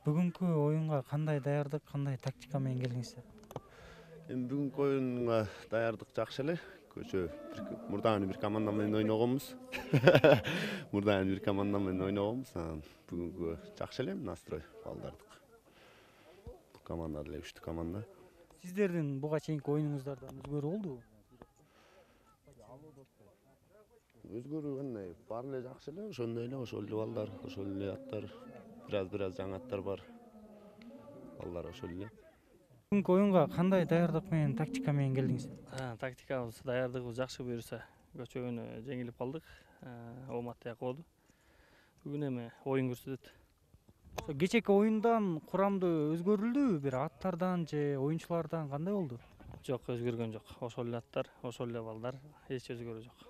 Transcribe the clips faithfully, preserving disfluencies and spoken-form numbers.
Бүгүнкү оюнга кандай даярдык, кандай тактика менен келдиңиздер? Эми бүгүнкү оюнга даярдык жакшы эле. Көчө мурдагы бир команда менен ойногонбуз. Мурдагы бир команда менен ойногонбуз. Бүгүнкү жакшы эле настрой балдардык. Бул команда деле күчтүү команда. Сиздердин буга чейинки оюнуңуздардан өзгөрүү болдубу? Өзгөрүү кандай? Баары эле жакшы эле, ошондой эле, ошол эле балдар, ошол эле аттар. Бираз-бираз жаңы аттар бар. Балдар ошол эле. Бүгүнкү оюнга кандай даярдык менен, тактика менен келдиңиздер? Тактикабыз, даярдыгыбыз жакшы буюрса. Көчөгөнү жеңилип калдык. Оомат тияк болду. Бүгүн эми оюн көрсөтөт. Кечээки оюндан курамды өзгөрүлдүбү? Бир аттардан же оюнчулардан кандай болду? Жок, өзгөргөн жок. Ошол эле аттар, ошол эле балдар, эч өзгөрүү жок.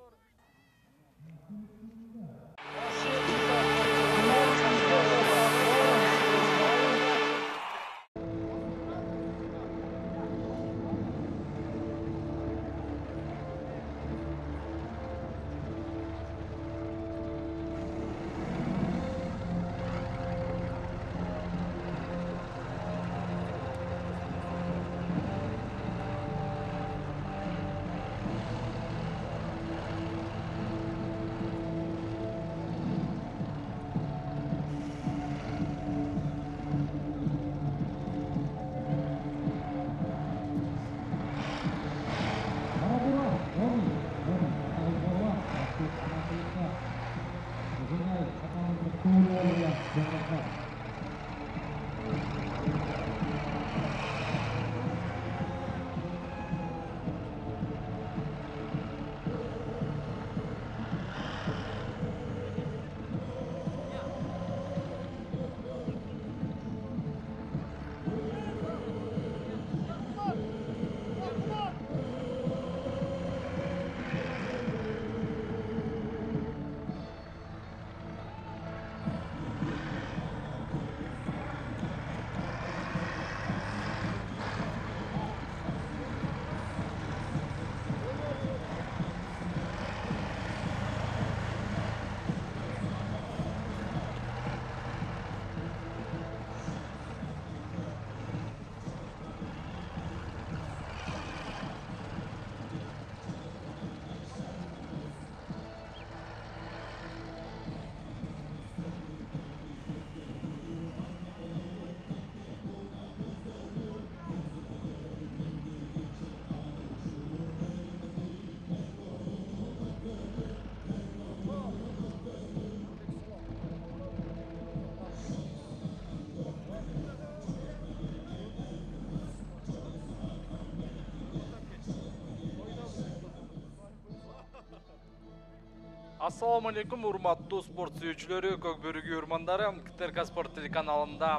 Ассаламу алейкум, урматтуу спорт сүйүүчүлөрү, Көк бөрү күйөрмандары. КТРК спорт телеканалында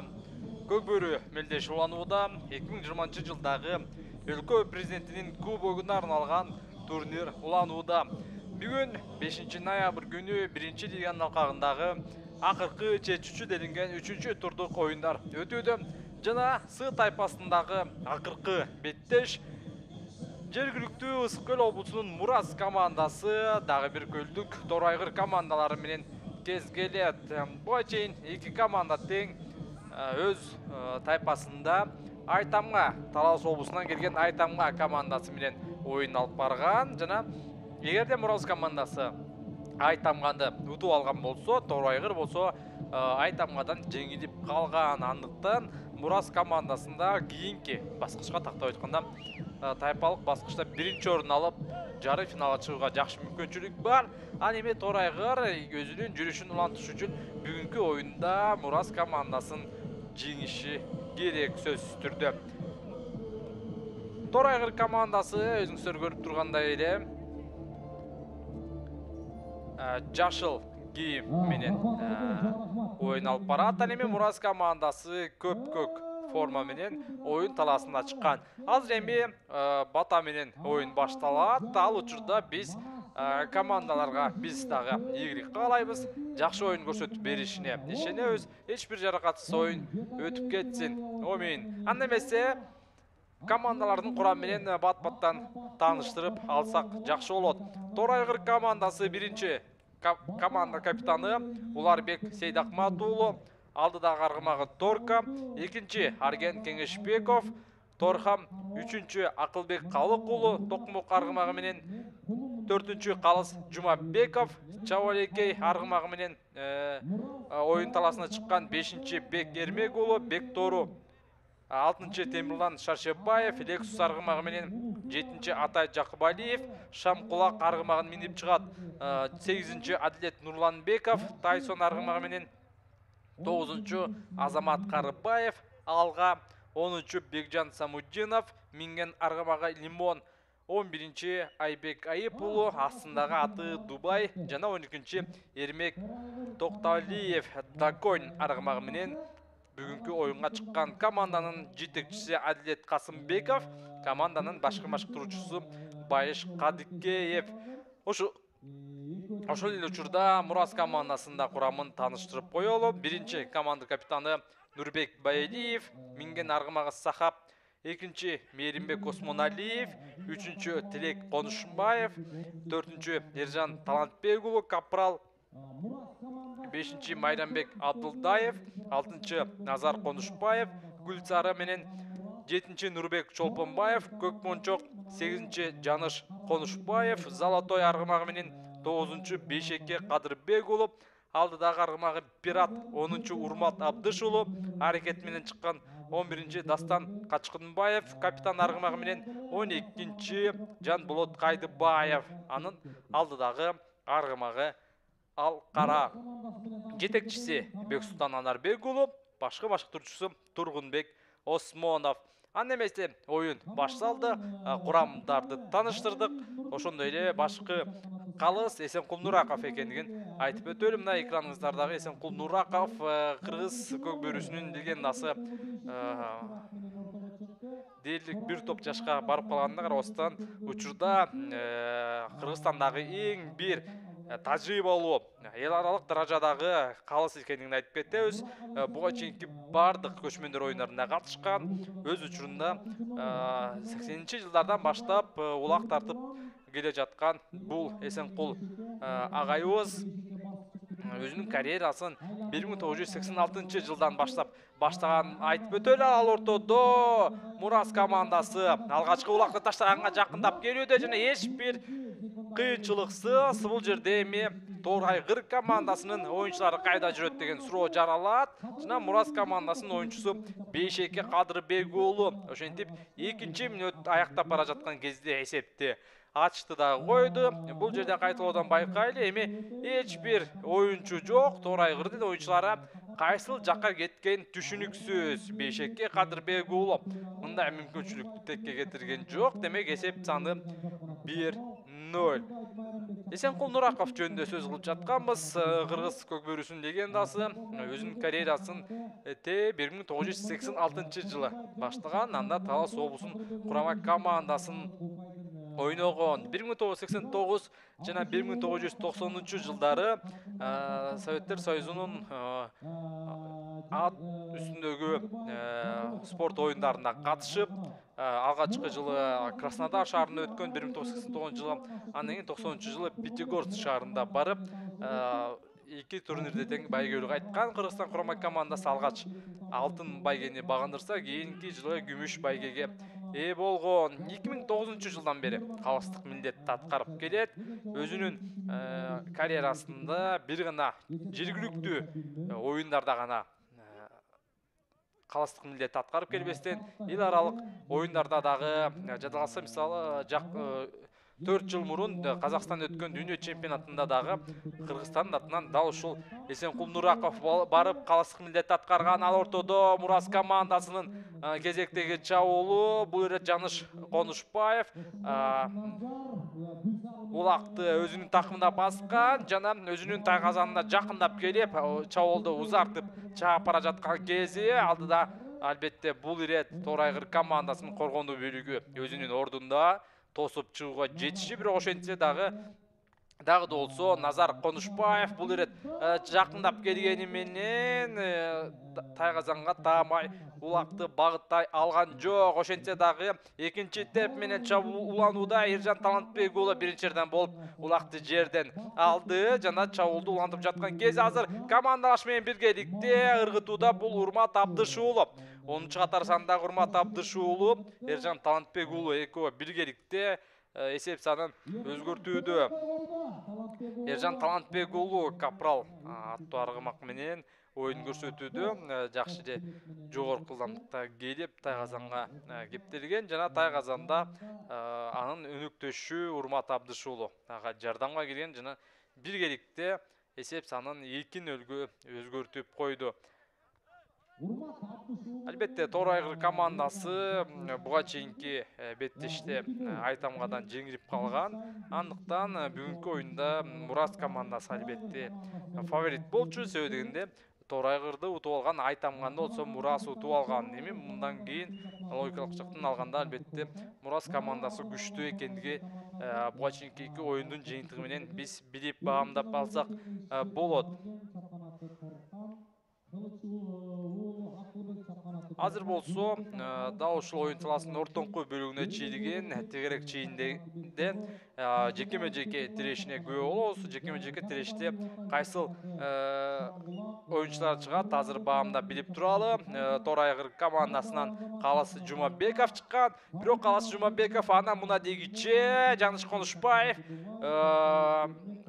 Көк бөрү мелдеши уланууда эки миң жыйырманчы жылдагы өлкө президентинин кубогуна арналган турнир уланууда. Бүгүн бешинчи ноябрь күнү биринчи лиганын алкагындагы акыркы чечүүчү делинген үчүнчү турдук оюндар өтүүдө. Жана С тайпасындагы акыркы беттеш жергиликтүү Ысык көл облусунун Мурас командасы дагы бир көлдүк Торайгыр командалары менен кезгелет. Буга чейин эки команда тең өз тайпасында Айтамга, Талас облусунан келген Айтамга командасы менен оюн алып барган. Жана эгерде Мурас командасы Айтамганы утуп алган болсо, Торайгыр болсо Айтамгадан жеңилип калган. Андыктан Мурас командасында кийинки баскычка тактап айтканда тайпалык баскычта биринчи орун алып, жарым финалга чыгууга жакшы мүмкүнчүлүк бар. Ал эми Торайгыр өзүнүн жүрүшүн улантыш үчүн бүгүнкү оюнда Мурас командасын жеңиши керек сөзсүз түрдө. Торайгыр командасы өзүңүздөр көрүп тургандай эле жашыл кийим менен оюн алып барат. Ал эми Мурас командасы көк-көк форма менен оюн талаасына чыккан. Азыр эми бата менен оюн башталат. Ал учурда биз командаларга биз дагы ийгилик каалайбыз. Жакшы оюн көрсөтүп беришине ишенебиз. Эч бир жаракатсыз оюн өтүп кетсин. Омин. Анда эмесе командалардын курамы менен бат-баттан тааныштырып алсак жакшы болот. Торайгыр командасы биринчи команда капитаны Уларбек Сейдакмат уулу, алдыдагы аргымагы Торка, экинчи Арген Кеңешбеков, Торхам, үчүнчү Акылбек Калык уулу Токмок аргымагы менен, төртүнчү Калыс Жумабеков, Чабалекей аргымагы менен оюн таласына чыккан бешинчи Бек Эрмек уулу Бектору, алтынчы Темирлан Шаршебаев Лексус аргымагы менен, жетинчи Атай Жакыбалиев Шамкулак аргымагын минип чыгат, сегизинчи Адилет Нурланбеков Тайсон аргымагы менен, тогузунчу Азамат Карыбаев Алга, онунчу Бекжан Самуддинов минген аргымагы Лимон, он биринчи Айбек Айып уулу астындагы аты Дубай жана он экинчи Эрмек Токталиев Даконь аргымагы менен бүгүнкү оюнга чыккан команданын жетекчиси Адилет Касымбеков, команданын башкы машыктыруучусу Байыш Кадыкеев. Ошо ошол эле учурда Мурас командасында курамын тааныштырып коелу. Биринчи команда капитаны Нурбек Байелиев, минген аргымагы Сахап, экинчи Мейримбек Осмоналиев, үчүнчү Тилек Конушбаев, төртүнчү Ержан Талантбек уулу Капрал, бешинчи Майрамбек Абдылдаев, алтынчы Назар Конушбаев Гүлсары менен, жетинчи Нурбек Чолпонбаев Көкмончок, сегизинчи Жаныш Конушбаев Золотой аргымагы менен, тогузунчу Бейшеке Кадырбек уулу, алдыдагы аргымагы Пират онунчу Урмат Абдыш уулу аракет менен чыккан, он биринчи Дастан Качкынбаев капитан аргымагы менен, он экинчи Жанболот Кайдыбаев анын алдыдагы аргымагы Ал Кара. Жетекчиси Бексултан Анарбек уулу, башкы машыктыруучусу Тургунбек Осмонов. Аны эмесе оюн башталды, курамдарды тааныштырдык. Ошондой эле башкы Калыс Эсенкул Нураков экендигин айтып өтөлү. Мына экраныңыздардагы Эсенкул Нураков кыргыз көкбөрүсүнүн легендасы. Дээрлик бир топ жашка барып калганына карабастан учурда Кыргызстандагы эң бир тажрыйбалуу эл аралык даражадагы калыс экендигин айтып кетебиз. Буга чейинки бардык көчмөндөр оюндарына катышкан. Өз учурунда сексенинчи жылдардан баштап улак тартып келе жаткан бул Эсенкул агайыбыз өзүнүн карьерасын бир миң тогуз жүз сексен алтынчы жылдан баштап баштаган айтып өтөлү. Ал ортодо Мурас командасы алгачкы улакты таштаганга жакындап келүүдө жана эч бир кыйынчылыксыз бул жерде эми Тоор Айгыр командасынын оюнчулары кайда жүрөт деген суроо жаралат. Жана Мурас командасынын оюнчусу Бейшеке Кадырбек уулу ошентип экинчи мүнөт аяктап бара жаткан кезде эсепти ачты да койду. Бул жерде кайталоодан байкайлы, эми эч бир оюнчу жок. Тоор Айгырдын оюнчулары кайсыл жакка кеткен түшүнүксүз. Бейшеке Кадырбек уулу мындай мүмкүнчүлүктү текке кетирген жок. Демек эсеп саны бир ноль. Эсенкул Нураков жөнүндө сөз кылып жатканбыз. Кыргыз көкбөрүсүнүн легендасы өзүнүн карьерасын бир миң тогуз жүз сексен алтынчы жылы баштаган. Анда Талас облусунун курама командасын ойногон. бир миң тогуз жүз сексен тогуз жана бир миң тогуз жүз токсонунчу жылдары Советтер Союзунун ат үстүндөгү спорт оюндарына катышып, алгачкы жылы Краснодар шаарында өткөн бир миң тогуз жүз сексен тогузунчу жылы, андан кийин токсонунчу жылы Пятигорск шаарында барып, эки турнирде тең байгелүү кайткан. Кыргызстан курама командасы алгач алтын байгени багындырса, кийинки жылы күмүш байгеге ээ болгон. эки миң тогузунчу жылдан бери калыстык милдетти аткарып келет. Өзүнүн карьерасында бир гана жергиликтүү оюндарда гана калыстык милдетти аткарып келбестен, эл аралык оюндарда дагы жадалса, мисалы төрт жыл мурун Казакстанда өткөн дүйнө чемпионатында дагы Кыргызстандын атынан дал ушул Эсенкул Нураков барып калыстык милдетти аткарган. Ал ортодо Мурас командасынын кезектеги чабуулу бул ирет Жаныш Конушбаев улакты өзүнүн такымына баскан жана өзүнүн тайгазанына жакындап келип чабуулду узартып чаап бара жаткан кези алдыда албетте бул ирет Тоор Айгыр командасынын коргондуу бөлүгү өзүнүн ордунда тосуп чыгууга жетиши, бирок ошентсе дагы дагы да болсо Назар Конушбаев бул ирет жакындап келгени менен Тайгазанга таамай улакты багыттай алган жок. Ошентсе дагы экинчи теп менен чабууланууда Эржан Талантбек уулу биринчи жерден болуп улакты жерден алды жана чабуулду улантып жаткан кез азыр командалаш менен биргеликте ыргытууда бул Урмат Абдыш уулу. онунчу катар сандагы Урмат Абдыш уулу Эржан Талантбек уулу экөө биргеликте эсеп санын өзгөртүүдө. Эржан Талантбек уулу капрал аттуу аргымак менен оюн көрсөтүүдө жакшы же жогорку ылдамдыкта келип Тайгазанга кептелген жана Тайгазанда анын өнөктөшү Урмат Абдыш уулу ага жардамга келген жана биргеликте эсеп санын эркин өлгө өзгөртүп койду. Албетте Тоор Айгыр командасы буга чейинки беттеште Айтамгадан жеңилип калган. Андыктан бүгүнкү оюнда Мурас командасы албетте фаворит болчу. Себеби дегенде Тоор Айгырды утуп алган Айтамганы болсо Мурас утуп алган. Эми мындан кийин логикалык жактан алганда албетте Мурас командасы күчтүү экендиги буга чейинки эки оюндун жыйынтыгы менен биз билип баамдап алсак болот. Азыр болсо дал ушул оюн саласынын ортоңку бөлүгүнө чийилген тегерек чийинден жекеме жеке тирешине күбө болобуз. Жекеме жеке тиреште кайсыл оюнчулар чыгат азыр баамдап билип туралы. Тоор Айгыр командасынан Калыс Жумабеков чыккан. Бирок Калыс Жумабеков анан мына дегиче Жаныш Конушбаев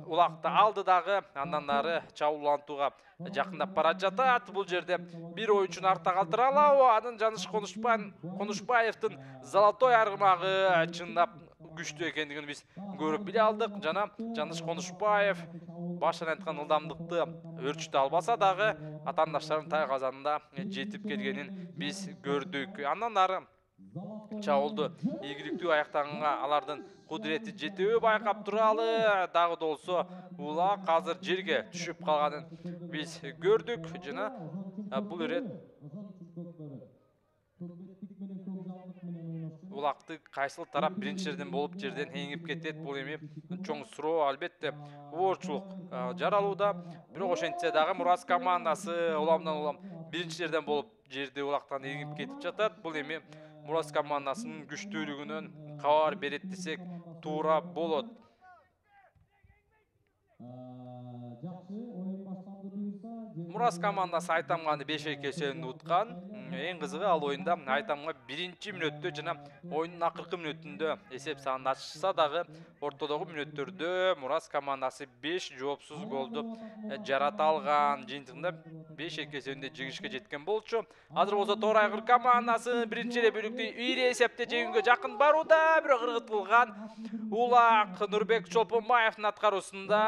улакты алды дагы андан ары чабуулантууга жакындап бара жатат. Бул жерде бир оюнчуну артта калтыра алабы? Анын Жаныш Конушбаевдин золотой аргымагы чындап күчтүү экендигин биз көрүп биле алдык. Жана Жаныш Конушбаев баштан айткан ылдамдыкты өрчүтө албаса дагы атаандаштардын Тайгазанда жетип келгенин биз көрдүк. Андан ары чабуулду ийгиликтүү аяктаганга алардын кудурети жетеби байкап туралы. Дагы да болсо улак азыр жерге түшүп калганын биз көрдүк жана бул ирет улакты кайсыл тарап биринчи жерден болуп жерден эңип кетет, бул эми чоң суроо. Албетте оорчулук жаралууда. Бирок ошентсе дагы Мурас командасы уламдан улам биринчи жерден болуп жерде улактан эңип кетип жатат. Бул эми Мурас командасынын күчтүүлүгүнөн кабар берет десек туура болот. Мурас командасы Айтамганы беш эки эсебинде уткан. Эң кызыгы ал оюнда Айтамга биринчи мүнөттө жана оюндун акыркы мүнөтүндө эсеп санын ачса дагы ортодогу мүнөттөрдө Мурас командасы беш жоопсуз голду жарата алган. Жыйынтыгында беш эки эсебинде жеңишке жеткен болчу. Азыр болсо Тоор Айгыр командасы биринчи эле бөлүктө ийри эсепте жеңүүгө жакын барууда, бирок ыргытылган улак Нурбек Чолпонбаевдин аткаруусунда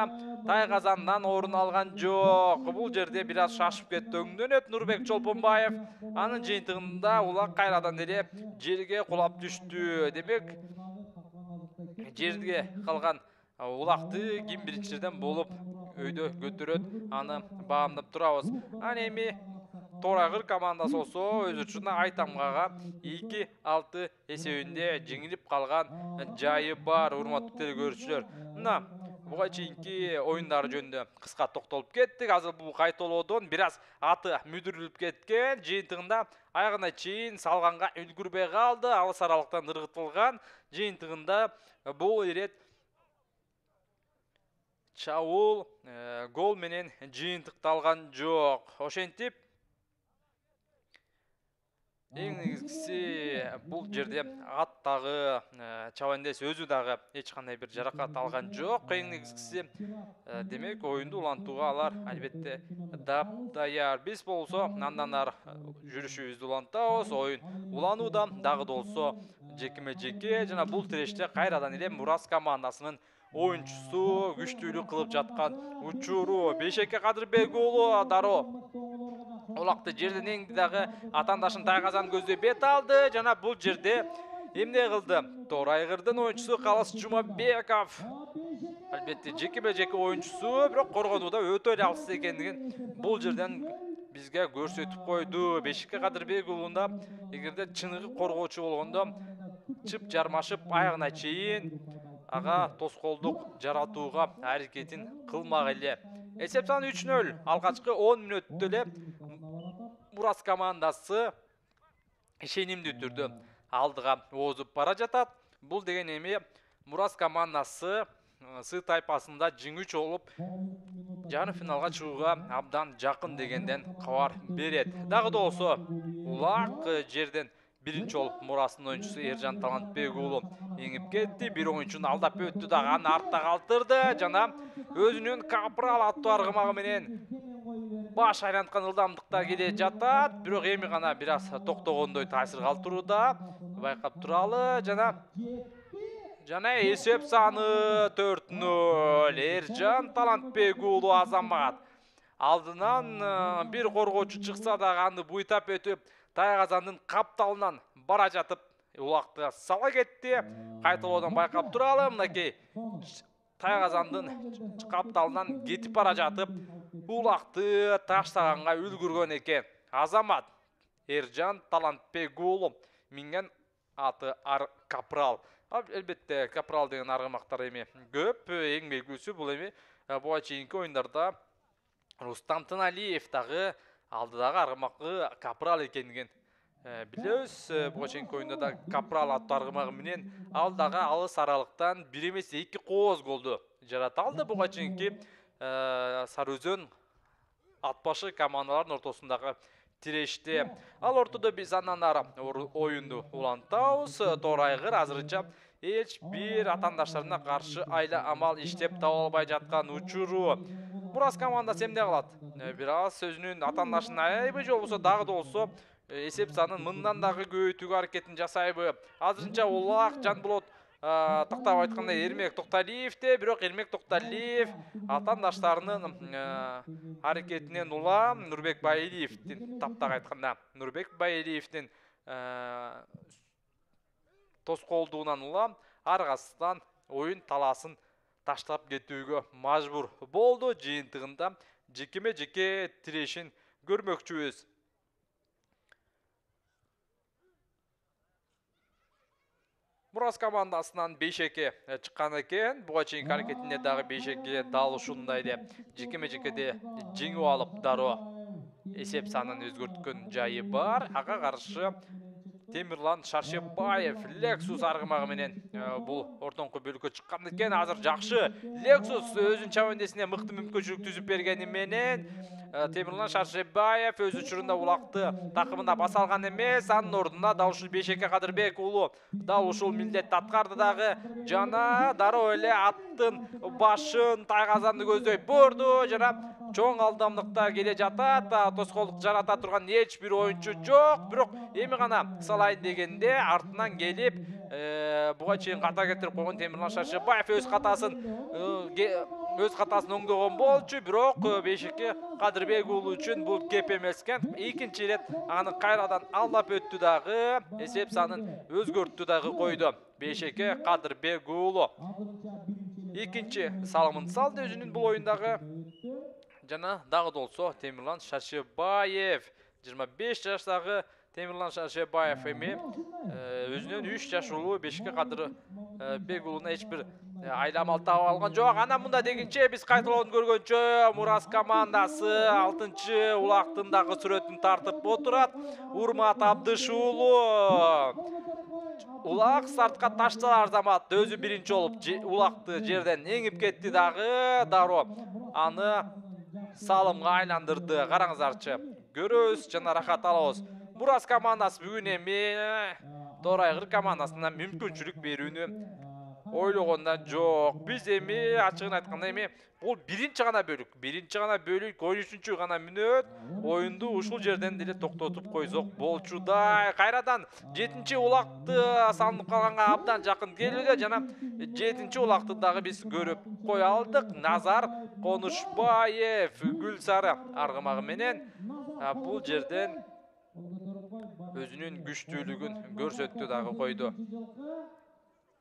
Тайгазандан орун алган жок. Бул жерде бир аз шашып кетти өңдөнөт Нурбек Чолпонбаев. Анын жыйынтыгында улак кайрадан эле жерге кулап түштү. Демек жерге калган улакты ким биринчи жерден болуп өйдө көтөрөт, аны баамдап турабыз. Аны эми Тоор Айгыр командасы болсо өз учурунда Айтамгага эки алты эсебинде жеңилип калган жайы бар, урматтуу телекөрүүчүлөр. Мына буга чейинки оюндар жөнүндө кыска токтолуп кеттик. Азыр бул кайталоодон бир аз аты мүдүрүлүп кеткен. Жыйынтыгында аягына чейин салганга үлгүрбөй калды. Алыс аралыктан ыргытылган. Жыйынтыгында бул ирет чабуул гол менен жыйынтыкталган жок. Ошентип эң негизгиси бул жерде аттагы чабандес өзү дагы эч кандай бир жаракат алган жок. Эң негизгиси демек оюнду улантууга алар албетте даяр. Биз болсо андан ары жүрүшүбүздү улантабыз. Оюн уланууда дагы да болсо жекеме жеке жана бул тиреште кайрадан эле Мурас командасынын оюнчусу күчтүүлүк кылып жаткан учуру. беш эки Кадырбек уулу дароо улакты жерден эңди дагы атаандашын Тайгазан көздөй бет алды жана бул жерде эмне кылды? Тоор Айгырдын оюнчусу Калыс Жумабеков. Албетте жекеме жеке оюнчусу, бирок коргонууда өтө эле алыс экендигин бул жерден бизге көрсөтүп койду. беш эки Кадырбек уулунда эгерде чыныгы коргоочу болгондо чып жармашып аягына чейин ага тоскоолдук жаратууга аракетин кылмак эле. Эсеп саны үч нөл. Алгачкы он мүнөттө эле Мурас командасы ишенимдүү түрдө алдыга озуп бара жатат. Бул деген эми Мурас командасы Сы тайпасында жеңүүчү болуп, жарым финалга чыгууга абдан жакын дегенден кабар берет. Дагы да болсо, улак жерден биринчи болуп Мурастын оюнчусу Эржан Талантбек уулу эңип кетти. Бир оюнчуну алдап өттү дагы аны артта калтырды жана өзүнүн Капрал аттуу аргымагы менен баш айланткан ылдамдыкта келе жатат. Бирок эми гана бир аз токтогондой таасир калтырууда байкап туралы жана Жана эсеп саны төрт нөл. Эржан Талантбек уулу Азамат. Алдынан бир коргоочу чыкса дагы аны буйтап өтүп, Тайгазандын капталынан бара жатып, улакты сала кетти. Кайталоодон байкап туралы, мынакей Тайгазандын капталынан кетип бара жатып, улакты таштаганга үлгүргөн экен. Азамат Эржан Талантбек уулу минген аты Капрал. Элбетте Капрал деген аргымактар эми көп, эң белгилүүсү бул эми буга чейинки оюндарда Рустам Тыналиев дагы алдыдагы аргымакы Капрал экендигин билебиз. Буга чейинки оюнда да Капрал аттуу аргымагы менен ал дагы алыс аралыктан бир эмес эки кооз голду жарата алды. Буга чейинки Сары Өзөн ат башы командалардын ортосундагы тиреште. Ал ортодо биз андан ары оюнду улантабыз. Тоор айгыр азырынча эч бир атаандаштарына каршы айла амал иштеп таба албай жаткан учуру. Мурас командасы эмне кылат? Бир аз өзүнүн атаандашын аябы же болбосо дагы да болсо эсеп санын мындан дагы көбөйтүүгө аракетин жасайбы? Азырынча улак Жанболот тактап айткандай Эрмек Токталиевде, бирок Эрмек Токталиев атаандаштарынын аракетинен улам Нурбек Байилиевдин, таптак айтканда Нурбек Байилиевдин тоскоолдугунан улам аргасынан оюн талаасын таштап кетүүгө мажбур болду. Жыйынтыгында жекеме жеке тирешин көрмөкчүбүз. Мурас командасынан бешеке чыккан экен. Буга чейинки аракетинде дагы бешеке дал ушундай эле жекеме жекеде жеңип алып дароо эсеп санын өзгөрткөн жайы бар. Ага каршы Темирлан Шаршебаев Lexus аргымагы менен бул ортоңку бөлүккө чыккан экен. Азыр жакшы Lexus өзүнүн чабандесине мыкты мүмкүнчүлүк түзүп бергени менен Темирлан Шаршебаев өз учурунда улакты такымына баса алган эмес. Анын ордуна дал ушул Бешеке Кадырбек уулу дал ушул милдетти аткарды дагы жана дароо эле аттын башын Тайгазанды көздөй бурду жана чоң алдамдыкта келе жатат. Тоскоолдук жарата турган эч бир оюнчу жок. Бирок эми гана салайын дегенде артынан келип буга чейин ката кетирип койгон Темирлан Шаршебаев өз катасын өз катасын оңдогон болчу. Бирок Бешеке Кадырбек уулу үчүн бул кеп эмес экен. Экинчи ирет аны кайрадан алдап өттү дагы эсеп санын өзгөрттү дагы койду Бешеке Кадырбек уулу. Экинчи салымын салды өзүнүн бул оюндагы. Жана дагы да болсо Темирлан Шаршебаев жыйырма беш жаштагы Темирлан Шаршебаев эми өзүнөн үч жаш улуу Бешеке Кадырбек уулуна эч бир айламал таба алган жок. Анан мында дегенче биз кайталоодун көргөнчө Мурас командасы алтынчы улактын дагы сүрөтүн тартып отурат. Урмат Абдыш уулу улак стартка ташталар замат өзү биринчи болуп улакты жерден эңип кетти дагы дароо аны салымга айландырды. Караңыздарчы, көрөбүз жана рахат алабыз. Мурас командасы бүгүн эми Тоор айгыр командасына мүмкүнчүлүк берүүнү ойлогонда жок. Биз эми ачыгын айтканда эми бул биринчи гана бөлүк, биринчи гана бөлүк, он үчүнчү гана мүнөт оюнду ушул жерден деле токтотуп койсок болчудай. Кайрадан жетинчи улакты салынып калганга абдан жакын келүүдө жана жетинчи улакты дагы биз көрүп кое алдык. Назар Конушбаев Гүлсары аргымагы менен бул жерден өзүнүн күчтүүлүгүн көрсөттү дагы койду.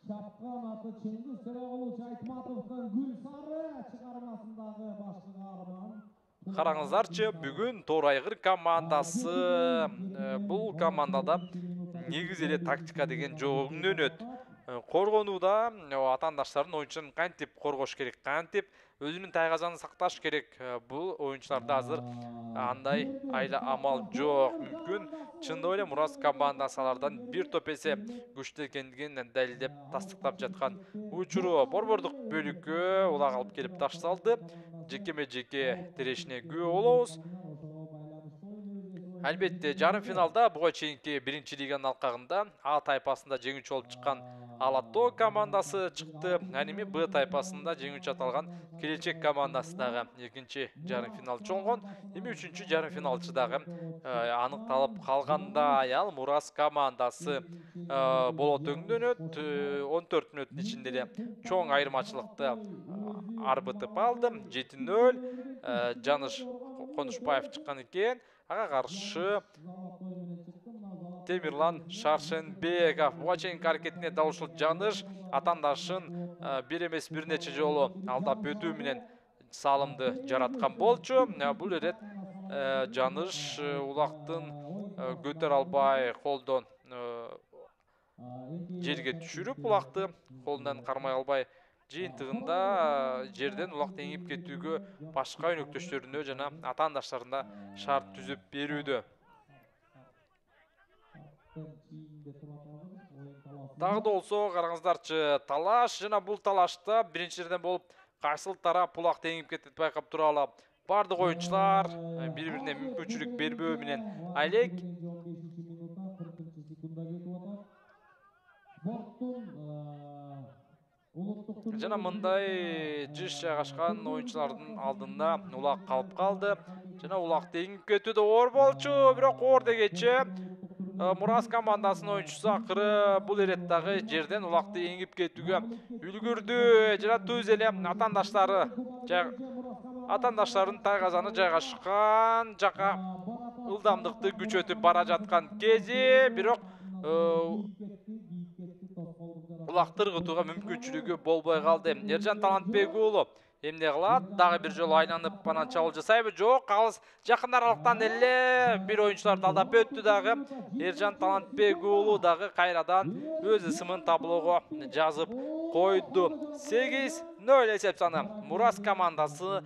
Шапкан аты Чеңгиз Төрөгулович Айтматовдун Гүлсары чыгармасындагы башкы каарман. Караңыздарчы, бүгүн Тоор айгыр командасы бул командада негизи эле тактика деген жогунун өнөт. коргонууда атаандаштардын оюнчуларын кантип коргош керек, кантип өзүнүн тайгазанын сакташ керек. Бул оюнчуларда азыр андай айла амал жок. Мүмкүн чындап эле Мурас командасы алардан бир топ эсе күчтүү экендигин далилдеп тастыктап жаткан учуру. Борбордук бөлүккө улак алып келип ташталды. Жекеме жеке тирешине күбө болобуз. Албетте, жарым финалда буга чейинки биринчи лиганын алкагында А тайпасында жеңүүчү болуп чыккан Алатоо командасы чыкты. Аними Б тайпасында жеңүүчү аталган Келечек командасы дагы экинчи жарым финалчы болгон. Эми үчүнчү жарым финалчы дагы аныкталып калгандай. Ал Мурас командасы болот өңдөнөт. он төрт мүнөттүн ичинде эле чоң айырмачылыкты арбытып алды. жети нөл. Жаныш Конушбаев чыккан экен. Ага каршы Темирлан Шаршенбеков. Буга чейинки аракетине дал ушул Жаныш атаандашын бир эмес бир нече жолу алдап өтүү менен салымды жараткан болчу. Бул ирет Жаныш улактын көтөрө албай колдон жерге түшүрүп, улакты колунан кармай албай жыйынтыгында жерден улак теңип кетүүгө башка өнөктөштөрүнө жана атаандаштарына шарт түзүп берүүдө. Дагы да болсо караңыздарчы, талаш жана бул талашта биринчилерден болуп кайсыл тарап улак теңип кетет байкап туралы. Бардык оюнчулар бири-бирине мүмкүнчүлүк бербөө менен алек. Жана мындай жыш жайгашкан оюнчулардын алдында улак калып калды. Жана улак теңип кетүүдө оор болчу, бирок оор дегече Мурас командасынын оюнчусу акыры бул ирет дагы жерден улакты эңип кетүүгө үлгүрдү. Жана түз эле атаандаштары атаандаштардын тайгазаны жайгашкан жака ылдамдыкты күчөтүп бара жаткан кези, бирок улакты ыргытууга мүмкүнчүлүгү болбой калды. Эржан Талантбек уулу эмне кылат? Дагы бир жолу айланып анан чабуул жасайбы? Жок, алыс жакын аралыктан эле бир оюнчуларды алдап өттү дагы. Эржан Талантбек уулу дагы кайрадан өз ысымын таблого жазып койду. сегиз нөл эсеп саны. Мурас командасы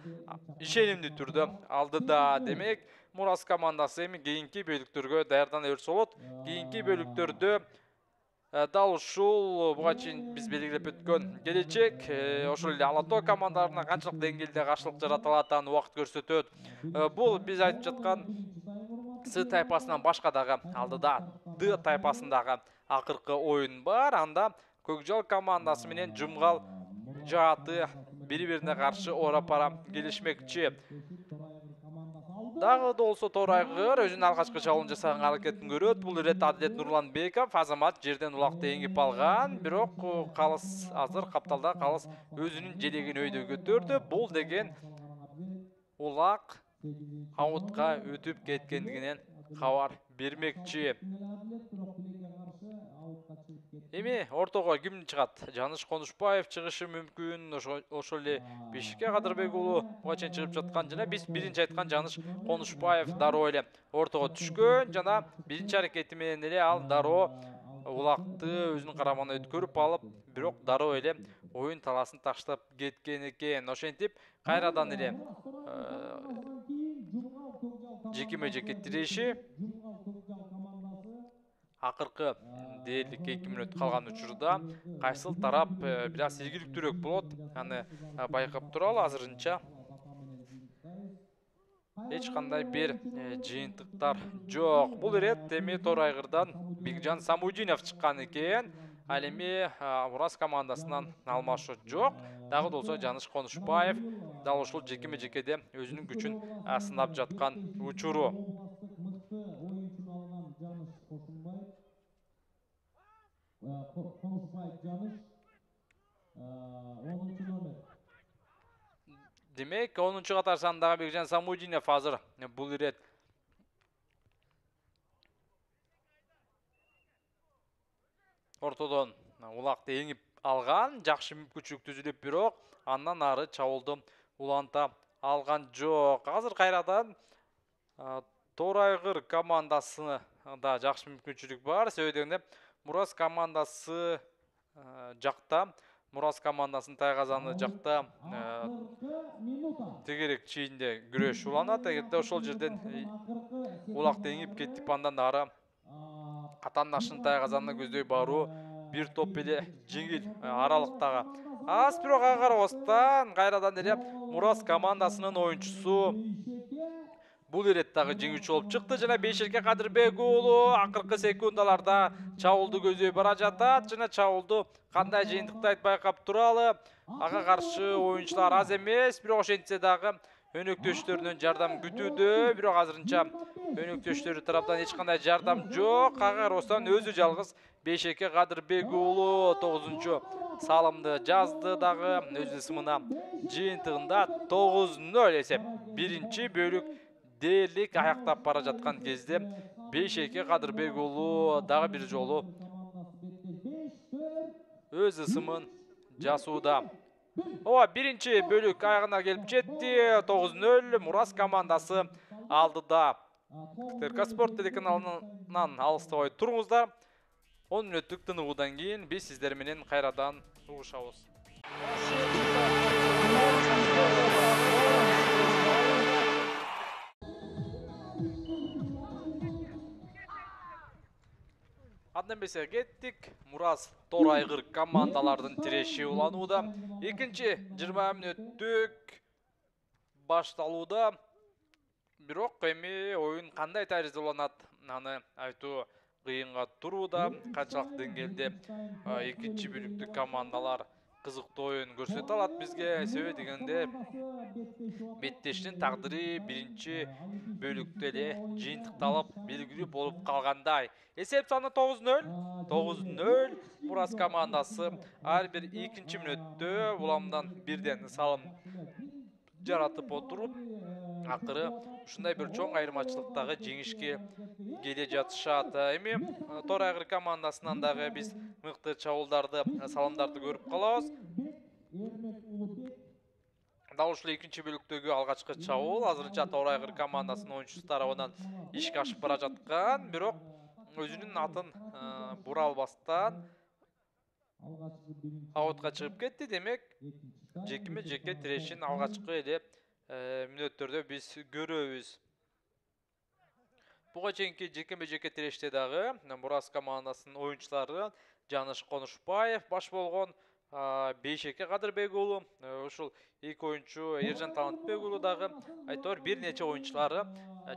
ишенимдүү түрдө алдыда. Демек, Мурас командасы эми кийинки бөлүктөргө даярдана берсе болот. Кийинки бөлүктөрдө дал ушул буга чейин биз белгилеп өткөн Келечек ошол эле Алатоо командаларына канчалык деңгээлде каршылык жарата алатынын убакыт көрсөтөт. Бул биз айтып жаткан С тайпасынан башка дагы алдыда Д тайпасындагы акыркы оюн бар. Анда Көкжал командасы менен Жумгал жааты бири-бирине каршы ора-пара келишмекчи. Дагы да болсо Торайгыр өзүнүн алгачкы чабуулун жасаган аракетин көрөт. Бул ирет Адилет Нурланбеков Азамат жерден улакты эңип алган, бирок калыс азыр капталда калыс өзүнүн желегин өйдө көтөрдү. Бул деген улак аутка өтүп кеткендигинен кабар бермекчи. Эми ортого ким чыгат? Жаныш Конушбаев чыгышы мүмкүн. Ошол эле Бишке Кадырбек уулу буга чейин чыгып жаткан жана биз биринчи айткан Жаныш Конушбаев дароо эле ортого түшкөн жана биринчи аракети менен эле ал дароо улакты өзүнүн карамагына өткөрүп алып, бирок дароо эле оюн таласын таштап кеткен экен. Ошентип кайрадан эле жекеме жеке тиреши акыркы дээрлик эки мүнөт калган учурда кайсыл тарап бир аз ийгиликтүүрөөк болот, аны байкап туралы. Азырынча эч кандай бир жыйынтыктар жок. Бул ирет эми Торайгырдан Бигжан Самудинов чыккан экен. Ал эми Мурас командасынан алмашуу жок. Дагы да болсо Жаныш Конушбаев дал ушул жекеме жекеде өзүнүн күчүн сынап жаткан учуру. Демек, онунчу катар сандагы Бекжан Самудинов азыр бул ирет ортодон улакты эңип алган, жакшы мүмкүнчүлүк түзүлүп, бирок андан ары чабуулду уланта алган жок. Азыр кайрадан Торайгыр командасына да жакшы мүмкүнчүлүк бар. Себеби дегенде Мурас командасы жакта Мурас командасынын тайгазаны жакта тегерек чейинде күрөш уланат. Эгерде ошол жерден улак деңип кетип андан ары атаандаштын тайгазанына көздөй баруу бир топ эле жеңил аралыктагы. Аз бирок ага карабастан кайрадан эле Мурас командасынын оюнчусу бул ирет дагы жеңүүчү болуп чыкты. Жана Бейшерке Кадырбек уулу акыркы секундаларда чабуулду көздөй бара жатат. Жана чабуулду кандай жыйынтыктайт байкап туралы. Ага каршы оюнчулар аз эмес, бирок ошентсе дагы өнөктөштөрүнөн жардам күтүүдө. Бирок азырынча өнөктөштөрү тараптан эч кандай жардам жок. Ага карабастан өзү жалгыз Бейшерке Кадырбек уулу тогузунчу салымды жазды дагы өз ысымына. Жыйынтыгында тогуз нөл эсеп. Биринчи бөлүк дээрлик аяктап бара жаткан кезде Бейшерке Кадырбек уулу дагы бир жолу өз ысымын жасууда. Ооба, биринчи бөлүк аягына келип жетти. тогуз нөл Мурас командасы алдыда. КТРК Спорт телеканалынан алыстабай туруңуздар. он мүнөттүк тыныгуудан кийин биз сиздер менен кайрадан угушабыз. Андан бесе кеттик. Мурас Торайгыр командалардын тиреши уланууда. Экинчи жыйырма мүнөттүк башталууда. Бирок эми оюн кандай таризде уланат, аны айтуу кыйынга турууда. Канчалык деңгээлде экинчи бөлүктүк командалар кызыктуу оюн көрсөтө алат бизге. Себеби дегенде беттештин тагдыры биринчи бөлүктө эле жыйынтыкталып белгилүү болуп калгандай. Эсеп саны тогуз нөл. тогуз нөл Мурас командасы ар бир экинчи мүнөттө буламдан бирден салым жаратып отуруп, акыры ушундай бир чоң айырмачылыктагы жеңишке келе жатышат. Эми Торайгыр командасынан дагы биз мыкты чабуулдарды, салымдарды көрүп калабыз. Дал ушул экинчи бөлүктөгү алгачкы чабуул азырынча Торайгыр командасынын оюнчусу тарабынан ишке ашып бара жаткан, бирок өзүнүн атын бура албастан аутка чыгып кетти. Демек, жекиме жеке тирешин алгачкы эле мүнөттөрдө биз көрөбүз. Буга чейинки жекеме жеке тиреште дагы Мурас командасынын оюнчулары Жаныш Конушбаев баш болгон, Бейшерке Кадырбек уулу, ушул эки оюнчу Ержан Талантбек уулу дагы айтор бир нече оюнчулары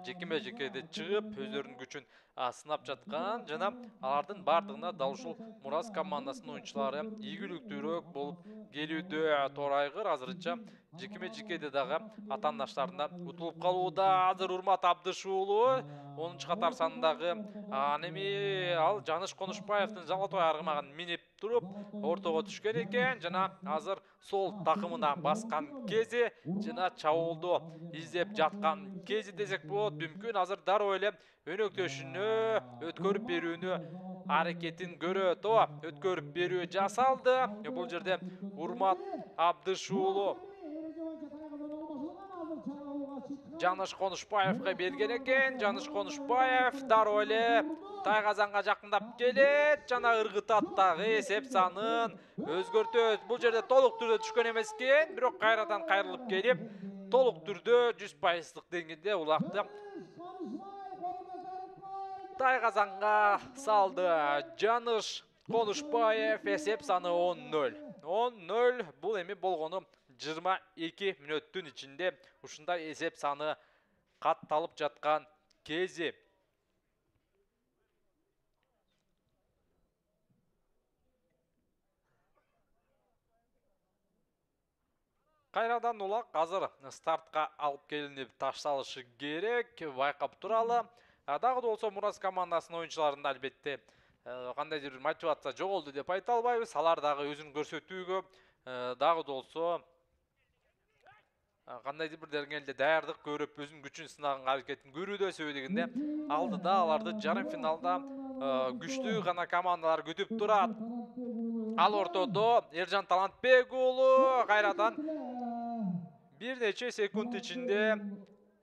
жекеме жекеде чыгып өздөрүнүн күчүн сынап жаткан. Жана алардын бардыгына дал ушул Мурас командасынын оюнчулары ийгиликтүүрөөк болуп келүүдө. Торайгыр азырынча жекеме жекеде дагы атаандаштарына утулуп калууда. Азыр Урмат Абдыш уулу онунчу катар сандагы эми ал Жаныш Конушбаевдин золотой аргымагын минип туруп ортого түшкөн экен. Жана азыр сол такымына баскан кези жана чабуулду издеп жаткан кези десек болот. Мүмкүн азыр дароо эле өнөктөшүнө өткөрүп берүүнү аракетин көрөт. Ооба, өткөрүп берүү жасалды. Бул жерде Урмат Абдыш уулу Жаныш Конушбаевга берген экен. Жаныш Конушбаев дароо эле тайгазанга жакындап келет жана ыргытат дагы эсеп санын өзгөртөт. Бул жерде толук түрдө түшкөн эмес экен, бирок кайрадан кайрылып келип, толук түрдө жүз пайыздык деңгээлде улакты тайгазанга салды. Жаныш Конушбаев эсеп саны он нөл. он нөл бул эми болгону жыйырма эки мүнөттүн ичинде ушундай эсеп саны катталып жаткан кези. Кайрадан улак азыр стартка алып келинип ташталышы керек, байкап туралы. Дагы да болсо Мурас командасынын оюнчуларында албетте кандайдыр бир мотивация жоголду деп айта албайбыз. Алар дагы өзүн көрсөтүүгө, дагы да болсо кандайдыр бир деңгээлде даярдык көрүп, өзүнүн күчүн сынаган аракетин көрүүдө. Себеби дегенде алдыда аларды жарым финалда күчтүү гана командалар күтүп турат. Ал ортодо Ержан Талантбек уулу кайрадан бир нече секунд ичинде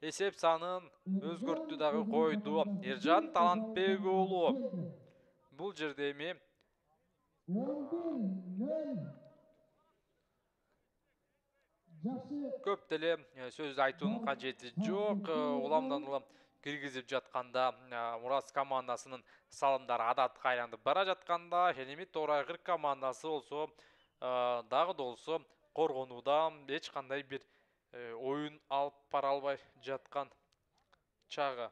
эсеп санын өзгөрттү дагы койду. Ержан Талантбек уулу бул жерде эми жакшы Көп деле э, сөз айтуунун кажети жок. Э, Уламдан улам киргизип жатканда э, Мурас командасынын салымдары адатка айланып бара жатканда, Шенеми Торайгыр командасы болсо э, дагы да болсо коргонууда эч кандай бир э, оюн алып бара албай жаткан чагы.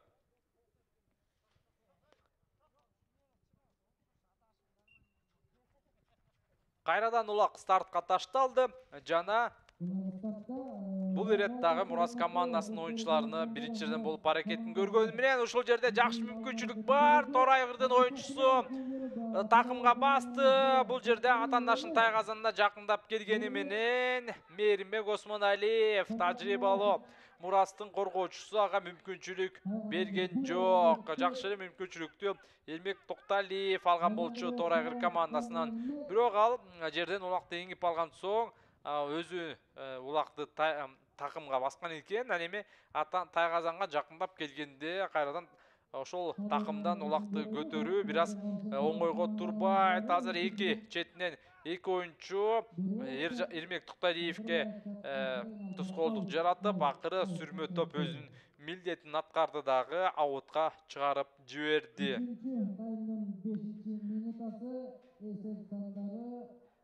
Кайрадан улак стартка ташталды жана бул ирет дагы Мурас командасынын оюнчуларына биринчи жерден болуп аракетин көргөнү менен ушул жерде жакшы мүмкүнчүлүк бар. Торайгырдын оюнчусу э, такымга басты. Бул жерде атаандашынын тайгазанына жакындап келгени менен Мээринбек Осмоналиев тажрыйбалуу Мурастын коргоочусу ага мүмкүнчүлүк берген жок. Жакшы эле мүмкүнчүлүктү Элмек Токталиев алган болчу Торайгыр командасынан. Бирок ал жерден улакты эңип алган соң өзү улакты такымга баскан экен. Ал эми тайгазанга жакындап келгенде кайрадан ошол такымдан улакты көтөрүү бир аз оңойго турбайт. Азыр эки четинен эки оюнчу Эрмек Токталиевке тоскоолдук жаратып, акыры сүрмө топ өзүнүн милдетин аткарды дагы аутка чыгарып жиберди.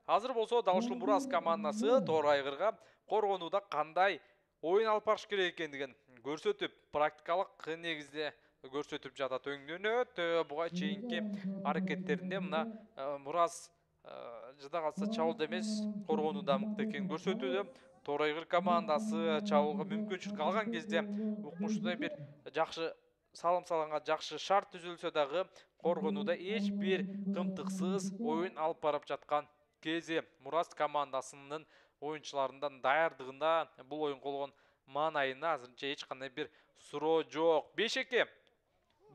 Азыр болсо дал ушул Мурас командасы Торайгырга коргонууда кандай оюн алып барыш керек экендигин көрсөтүп, практикалык негизде көрсөтүп жатат. Өңдөнөт. Буга чейинки аракеттеринде мына Мурас жада калса чабуулда эмес, коргонууда мыкты экенин көрсөтүүдө. Торайгыр командасы чабуулга мүмкүнчүлүк алган кезде укмуштуудай бир жакшы салым салганга жакшы шарт түзүлсө дагы коргонууда эч бир кымтыксыз оюн алып барып жаткан кези Мурас командасынын оюнчуларынын даярдыгында бул оюн колгон маанайына азырынча эч кандай бир суроо жок. беш эки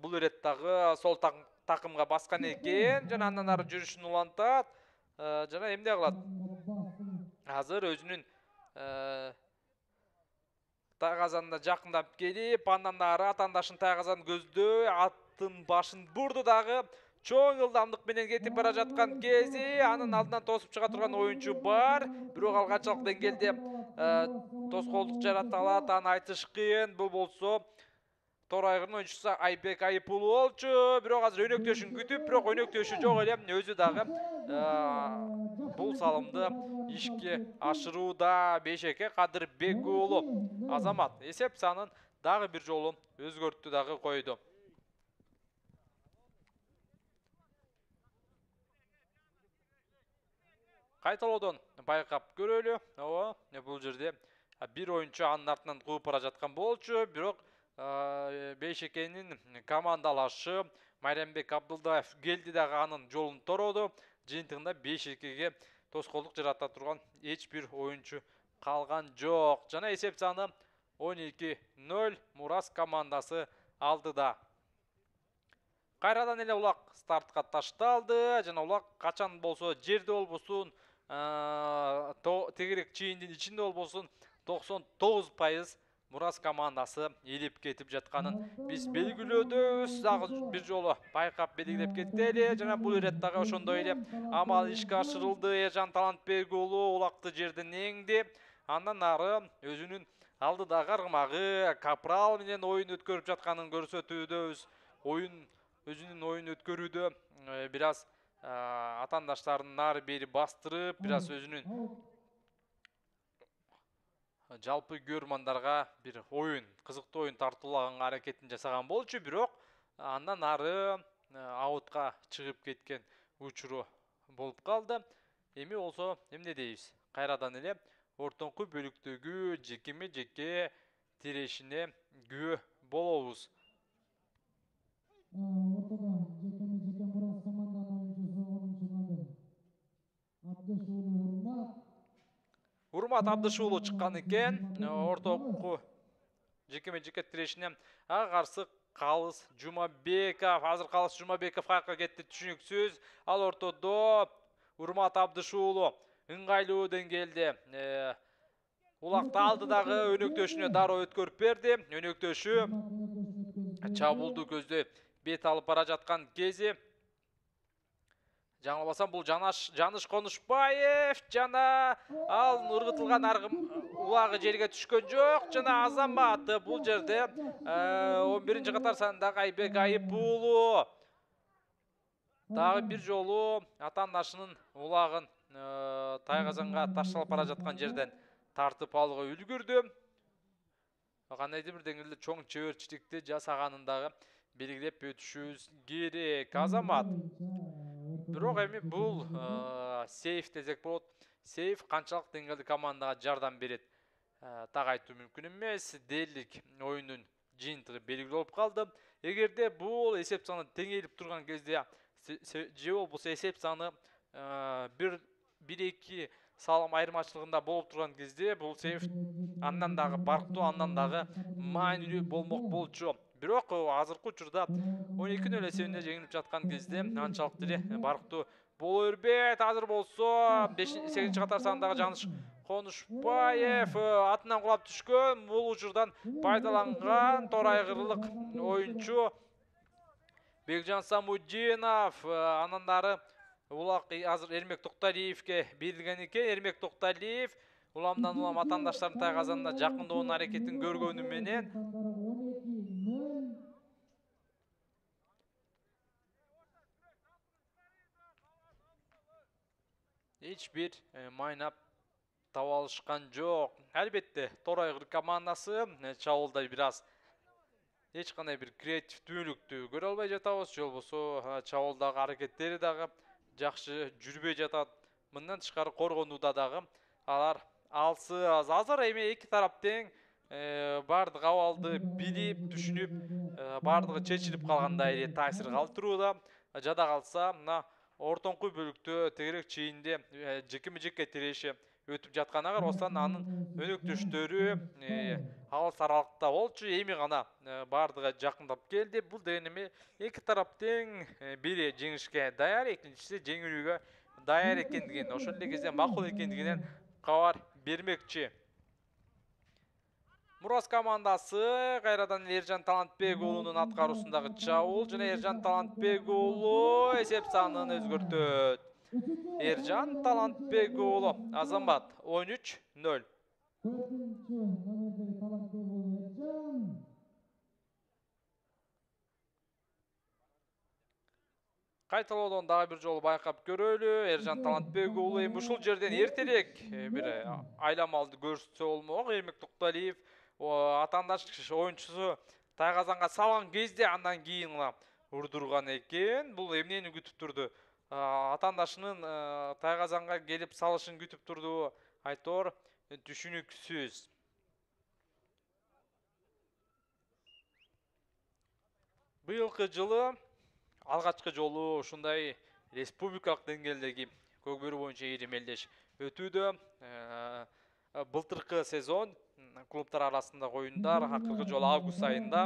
бул ирет дагы сол такымга баскан экен жана андан ары жүрүшүн улантат. Жана эмне кылат? Азыр өзүнүн тайгазанына жакындап келип, андан ары атаандашынын тайгазанын көздөй аттын башын бурду дагы. Чоң ылдамдык менен кетип бара жаткан кези анын алдынан тосуп чыга турган оюнчу бар. Бирок ал канчалык деңгээлде тоскоолдук жарата алат, аны айтыш кыйын. Бул болсо Торайгырдын оюнчусу Айбек Айыпулу болчу. Бирок азыр өнөктөшүн күтүп, бирок өнөктөшү жок эле. Өзү дагы бул салымды ишке ашырууда. беш эки Кадырбек уулу Азамат эсеп санын дагы бир жолу өзгөрттү дагы койду. Кайталоодон байкап көрөлү. Ооба, бул жерде бир оюнчу анын артынан кууп бара жаткан болчу. Бирок беш экинин командалашы Майрамбек Абдылдаев келди дагы анын жолун торооду. Жыйынтыгында беш экиге тоскоолдук жарата турган эч бир оюнчу калган жок. Жана эсеп саны он эки ноль Мурас командасы алдыда. Кайрадан эле улак стартка ташталды. Жана улак качан болсо жерде болбосун, тегерек чийиндин ичинде болбосун токсон тогуз пайыз Мурас командасы илип кетип жатканын биз белгилөөдөбүз. Дагы бир жолу байкап белгилеп кетели. Жана бул ирет дагы ошондой эле амал ишке ашырылды. Ержан Талантбек уулу улакты жерден эңди. Андан ары өзүнүн алдыдагы аргымагы Капрал менен оюн өткөрүп жатканын көрсөтүүдөбүз. Оюн өзүнүн оюн өткөрүүдө бир аз атаандаштарын нары бери бастырып, бир аз өзүнүн жалпы көрмандарга бир оюн, кызыктуу оюн тартуулаганга аракетин жасаган болчу. Бирок андан ары аутка чыгып кеткен учуру болуп калды. Эми болсо эмне дейбиз? Кайрадан эле ортоңку бөлүктөгү жекеме жеке тирешине күбө болобуз. ортодо жекеме жеке Мурас команданын оюнчусу онунчу номер Абдышуулу Урмат. Урмат Абдышуулу чыккан экен. Ортоңку жекеме жеке тирешине ага каршы Калыс Жумабеков. Азыр Калыс Жумабеков каяка кетти түшүнүксүз. Ал ортодо Урмат Абдышуулу ыңгайлуу деңгээлде улакты алдыдагы өнөктөшүнө дароо өткөрүп берди. Өнөктөшү чабуулду көздөй бет алып бара жаткан кези жаңылбасам бул Жанаш Жаныш Конушбаев жана ал ыргытылган аргым улагы жерге түшкөн жок жана Азамат бул жерде он биринчи катар сандагы Айбек Айып уулу дагы бир жолу атаандашынын улагын Тайгазанга ташталып бара жаткан жерден тартып алууга үлгүрдү. Кандайдыр бир деңгээлде чоң чеберчиликти жасаганын дагы белгилеп өтүшүбүз керек. Азамат бирок эми бул сейф десек болот. Сейф канчалык деңгээлде командага жардам берет так айтуу мүмкүн эмес. Дээрлик оюндун жыйынтыгы белгилүү болуп калды. Эгерде бул эсеп саны теңелип турган кезде же болбосо эсеп саны бир эки салым айырмачылыгында болуп турган кезде бул сейф андан дагы барктуу, андан дагы маанилүү болмок болчу. Бирок азыркы учурда он эки нөл эсебинде жеңилип жаткан кезде анчалык деле барктуу боло бербейт. Азыр болсо сегизинчи катар сандагы Жаныш Конушбаев атынан кулап түшкөн. Бул учурдан пайдаланган тор айгырылык оюнчу Бекжан Самудинов. Анан дары улак азыр Эрмек Токталиевке берилген экен. Эрмек Токталиев уламдан улам атаандаштардын Тайгазанына жакындоонун аракетин көргөнү менен эч бир майнап таба алышкан жок. Албетте тор айгыр командасы чабуулда бир аз эч кандай бир креативдүүлүктү көрө албай жатабыз, же болбосо чабуулдагы аракеттери дагы жакшы жүрбөй жатат. Мындан тышкары коргонууда дагы алар алсыз. Азыр эми эки тарап тең бардык абалды билип, түшүнүп, бардыгы чечилип калгандай эле таасир калтырууда. Жада калса мына ортоңку бөлүктө тегерек чейинде жекеме жекке тиреши өтүп жатканга карабастан анын өнөктөштөрү алыс аралыкта болчу. Эми гана бардыгы жакындап келди. Бул деген эми эки тарап тең бири жеңишке даяр, экинчиси жеңилүүгө даяр экендигин, ошол эле кезде макул экендигинен кабар бермекчи. Мурас командасы кайрадан Эржан Талантбек уулунун аткаруусундагы чабуул жана Эржан Талантбек уулу эсеп санын өзгөртөт. Эржан Талантбек уулу Азамат он үч нөл. Кайталоодон дагы бир жолу байкап көрөлү. Эржан Талантбек уулу эми ушул жерден эртерээк бир айламалды көрсөтсө болмок. Эрмек Токталиев атаандаш оюнчусу Тайгазанга салган кезде андан кийин гана урдурган экен. Бул эмнени күтүп турду? Атаандашынын Тайгазанга келип салышын күтүп турду. Айтор түшүнүксүз. Быйылкы жылы алгачкы жолу ушундай республикалык деңгээлдеги көкбөрү боюнча ийри мелдеш өтүүдө. Былтыркы сезон клубтар арасындагы оюндар акыркы жолу август айында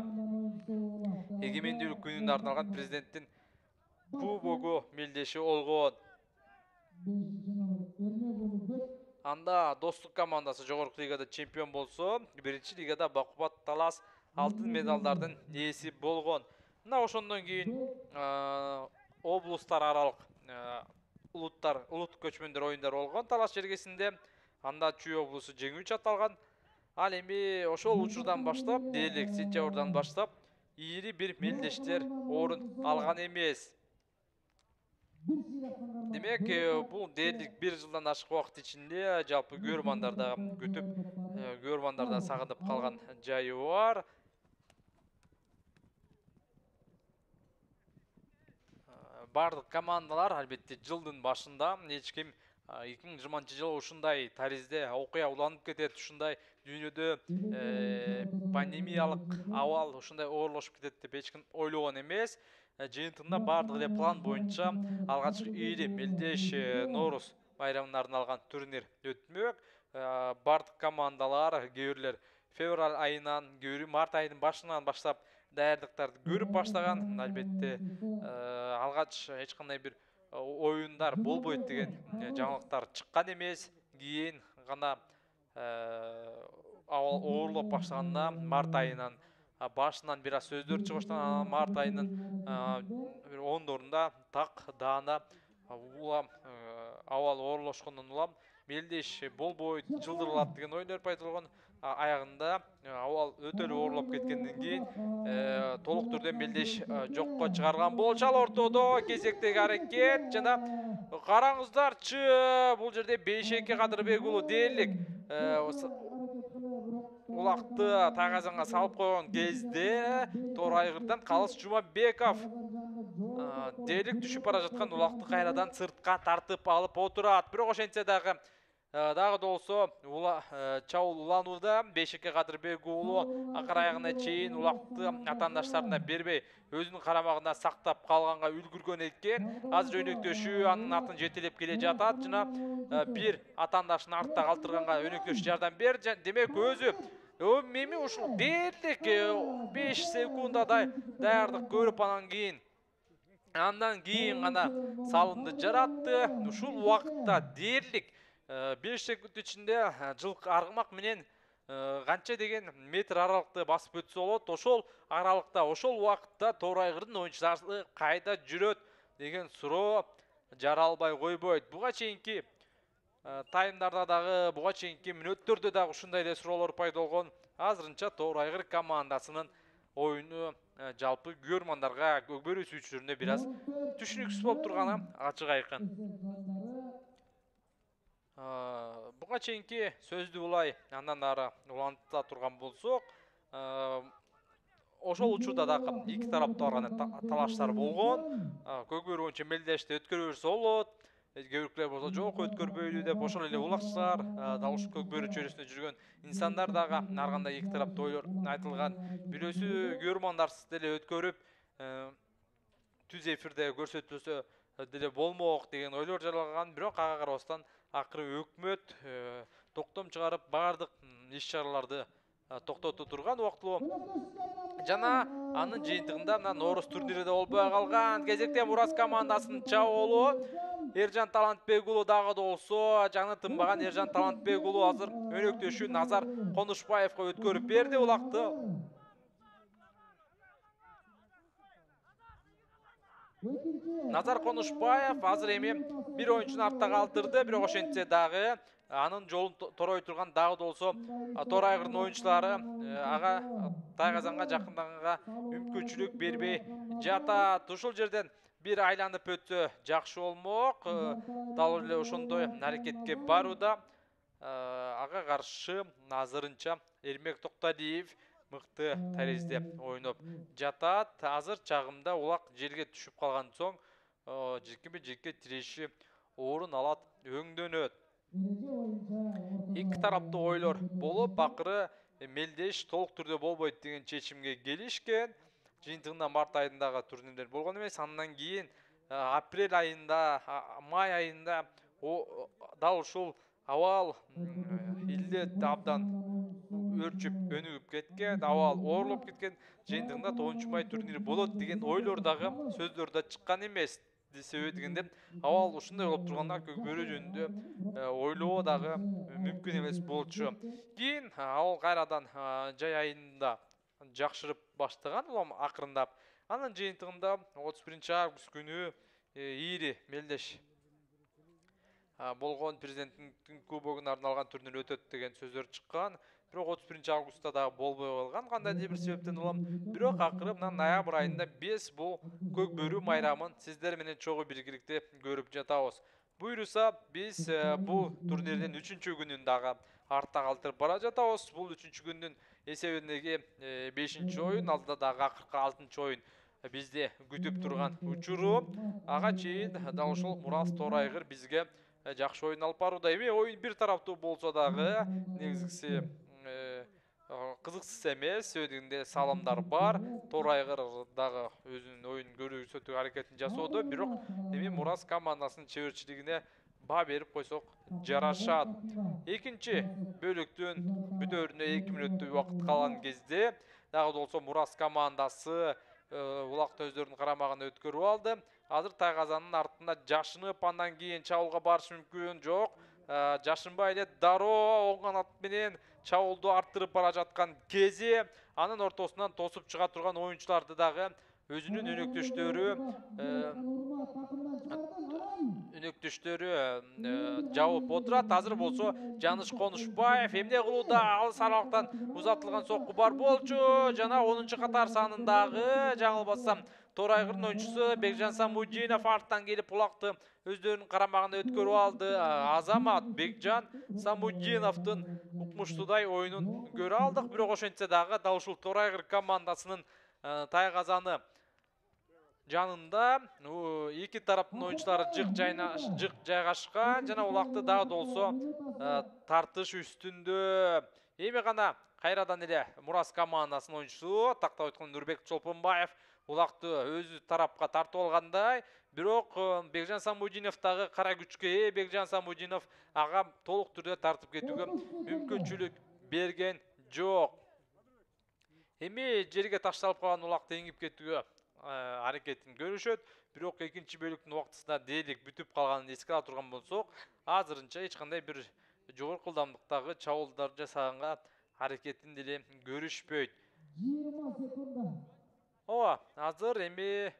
эгемендүүлүк күнүнө арналган президенттин кубогу мелдеши болгон. Анда Достук командасы жогорку лигада чемпион болсо, биринчи лигада бакубат талас алтын медалдардын ээси болгон. Мына ошондон кийин облустар аралык улуттар улут көчмөндөр оюндар болгон Талас жергесинде. Анда Чүй облусу жеңүүчү аталган. Ал эми ошол учурдан баштап, дээрлик сентябрдан баштап ийри бир мелдештер орун алган эмес. Демек, бул дээрлик бир жылдан ашык убакыт ичинде жалпы көрөрмандар да күтүп, көрөрмандар да сагынып калган жайы бар. Бардык командалар албетте жылдын башында эч ким эки миң жыйырманчы жылы ушундай таризде окуя уланып кетет, ушундай дүйнөдө пандемиялык абал ушундай оорлошуп кетет деп эч ким ойлогон эмес. Жыйынтыгында бардык эле план боюнча алгачкы ийри мелдеш Нооруз байрамына арналган турнир өтмөк. Бардык командалар кээ бирлер февраль айынан, кээ бири март айынын башынан баштап даярдыктарды көрүп баштаган. Албетте алгач эч кандай бир оюндар болбойт деген жаңылыктар чыккан эмес. Кийин гана абал оорлоп баштаганда март айынан башынан бир аз сөздөр чыга баштаган. Март айынын ондорунда так даана улам абал оорлошкондон улам Мелдеш болбойт, жылдырылат деген ойлор пайда болгон. Аягында абал өтө эле оорлоп кеткенден кийин толук түрдө Мелдеш жокко чыгарган болчу. Ал ортодо кезектеги аракет жана караңыздарчы, бул жерде беш эки Кадырбек уулу дээрлик улакты тайгазанга салып койгон кезде Торайгырдан Калыс Жумабеков дээрлик түшүп бара жаткан улакты кайрадан сыртка тартып алып отурат. Бирок ошентсе дагы дагы болсо чабуул уланууда. беш эки Кадырбек уулу акыр аягына чейин улакты атаандаштарына бербей өзүнүн карамагында сактап калганга үлгүргөн экен. Азыр өнөктөшүү анын артын жетелеп келе жатат жана бир атаандашын артта калтырганга өнөктөшүү жардам берди. Демек өзү эми ушул дээрлик беш секундадай даярдык көрүп анан кийин андан кийин гана салымды жаратты. Ушул убакытта дээрлик беш секунд ичинде жылкы аргымак менен канча деген метр аралыкты басып өтсө болот. Ошол аралыкта, ошол убакытта Торайгырдын оюнчулары кайда жүрөт деген суроо жаралбай койбойт. Буга чейинки таймдарда дагы, буга чейинки мүнөттөрдө дагы ушундай эле суроолор пайда болгон. Азырынча Торайгыр командасынын оюну жалпы көрмандарга, Көкбөрү сүйүүчүлөрүнө бир аз түшүнүксүз болуп турганы ачык айкын. Буга чейинки сөздү улай андан ары уланта турган болсок, ошол учурда дагы эки тарапта аркан талаштар болгон. Көкбөрү боюнча Мелдешти өткөрө берсе болот, кээ биркилер болсо жок өткөрбөйлү деп ошол эле улакчылар, дал ушул Көкбөрү чөйрөсүндө жүргөн инсандар дагы ар кандай эки тарапта ойлор айтылган. Бирөөсү көрмандарсыз деле өткөрүп түз эфирде көрсөтүлсө деле болмок деген ойлор жаралган. Бирок ага карабастан акыры өкмөт токтом чыгарып баардык иш-чараларды токтотуп турган убактылуу. Жана анын жыйынтыгында мына Нооруз турнири да болбой калган. Кезекте Мурас командасынын чабуулу Эржан Талантбек уулу дагы болсо жаңы тынбаган Эржан Талантбек уулу азыр өнөктөшүү Назар Конушбаевга өткөрүп берди улакты. Назар Конушбаев азыр эми бир оюнчуну артта калтырды, бирок ошентсе дагы анын жолун торой турган дагы болсо Торайгырдын оюнчулары ага Тайгазанга жакындаганга мүмкүнчүлүк бербей жатат. Ушул жерден бир айланып өтсө жакшы болмок. Дал эле ошондой аракетке барууда. Ага каршы азырынча Эрмек Токталиев мыкты тарезде ойноп жатат. Азыр чагымда улак жерге түшүп калган соң жекпе жекке тиреши орун алат, өңдөнөт. Эки тараптуу ойлор болуп, акыры Мелдеш толук түрдө болбойт деген чечимге келишкен. Жыйынтыгында март айындагы турнирлер болгон эмес. Андан кийин апрель айында, май айында дал ушул абал илдет абдан өрчүп, өнүгүп кеткен, абал оорлоп кеткен. Жыйынтыгында тогузунчу май турнири болот деген ойлор дагы сөздөр да чыккан эмес. Себеби дегенде абал ушундай болуп турганда Көкбөрү жөнүндө ойлоо дагы мүмкүн эмес болчу. Кийин абал кайрадан жай айында жакшырып баштаган улам акырындап. Анын жыйынтыгында отуз биринчи август күнү Ири Мелдеш болгон президенттин кубогуна арналган турнир өтөт деген сөздөр чыккан. Бирок отуз биринчи августта дагы болбой калган кандайдыр бир себептен улам. Бирок акыры мына ноябрь айында биз бул Көкбөрү майрамын сиздер менен чогуу биргеликте көрүп жатабыз. Буйруса биз бул турнирдин үчүнчү күнүн дагы артта калтырып бара жатабыз. Бул үчүнчү күндүн эсебиндеги бешинчи оюн, алдыда дагы акыркы алтынчы оюн бизде күтүп турган учуру. Ага чейин дал ушул Мурас Торайгыр бизге жакшы оюн алып барууда. Эми оюн бир тараптуу болсо дагы негизгиси кызыксыз эмес, сөйдүгүндө салымдар бар. Торайгыр дагы өзүнүн оюнун көрсөтүү аракетин жасоодо, бирок эми Мурас командасынын чеберчилигине баа берип койсок жарашат. Экинчи бөлүктүн бүтөөрүнө эки мүнөттөй убакыт калган кезде дагы болсо Мурас командасы улакты өздөрүнүн карамагына өткөрүп алды. Азыр Тайгазанын артында жашынып, андан кийин чабуулга барышы мүмкүн. Жок, жашынбай эле дароо оң канат менен чабуулду арттырып бара жаткан кези, анын ортосунан тосуп чыга турган оюнчуларды дагы өзүнүн өнөктөштөрү өнөктөштөрү жабып отурат. Азыр болсо Жаныш Конушбаев эмне кылууда? Алыс аралыктан узатылган сокку бар болчу. Жана онунчу катар санындагы жагылбасам Тор Айгырдын оюнчусу Бекжан Самудинов арттан келип булакты өздөрүнүн карамагына өткөрүп алды. Азамат Бекжан Самудиновдун укмуштуудай оюнун көрө алдык, бирок ошентсе дагы дал ушул Тор Айгыр командасынын тайгазаны жанында эки тараптын оюнчулары жык жык жайгашкан жана улакты дагы да болсо тартыш үстүндө. Эми гана кайрадан эле Мурас командасынын оюнчусу тактап өткөн Нурбек Чолпонбаев улакты өзү тарапка тартып алгандай, бирок Бекжан Самудинов дагы кара күчкө ээ. Бекжан Самудинов ага толук түрдө тартып кетүүгө мүмкүнчүлүк берген жок. Эми жерге ташталып калган улакты эңип кетүүгө аракетин көрүшөт, бирок экинчи бөлүктүн убактысында дээрлик бүтүп калганын эске ала турган болсок, азырынча эч кандай бир жогорку ылдамдыктагы чабуулдар жасаганга аракетин деле көрүшпөйт. жыйырма секунда. Ооба, азыр эми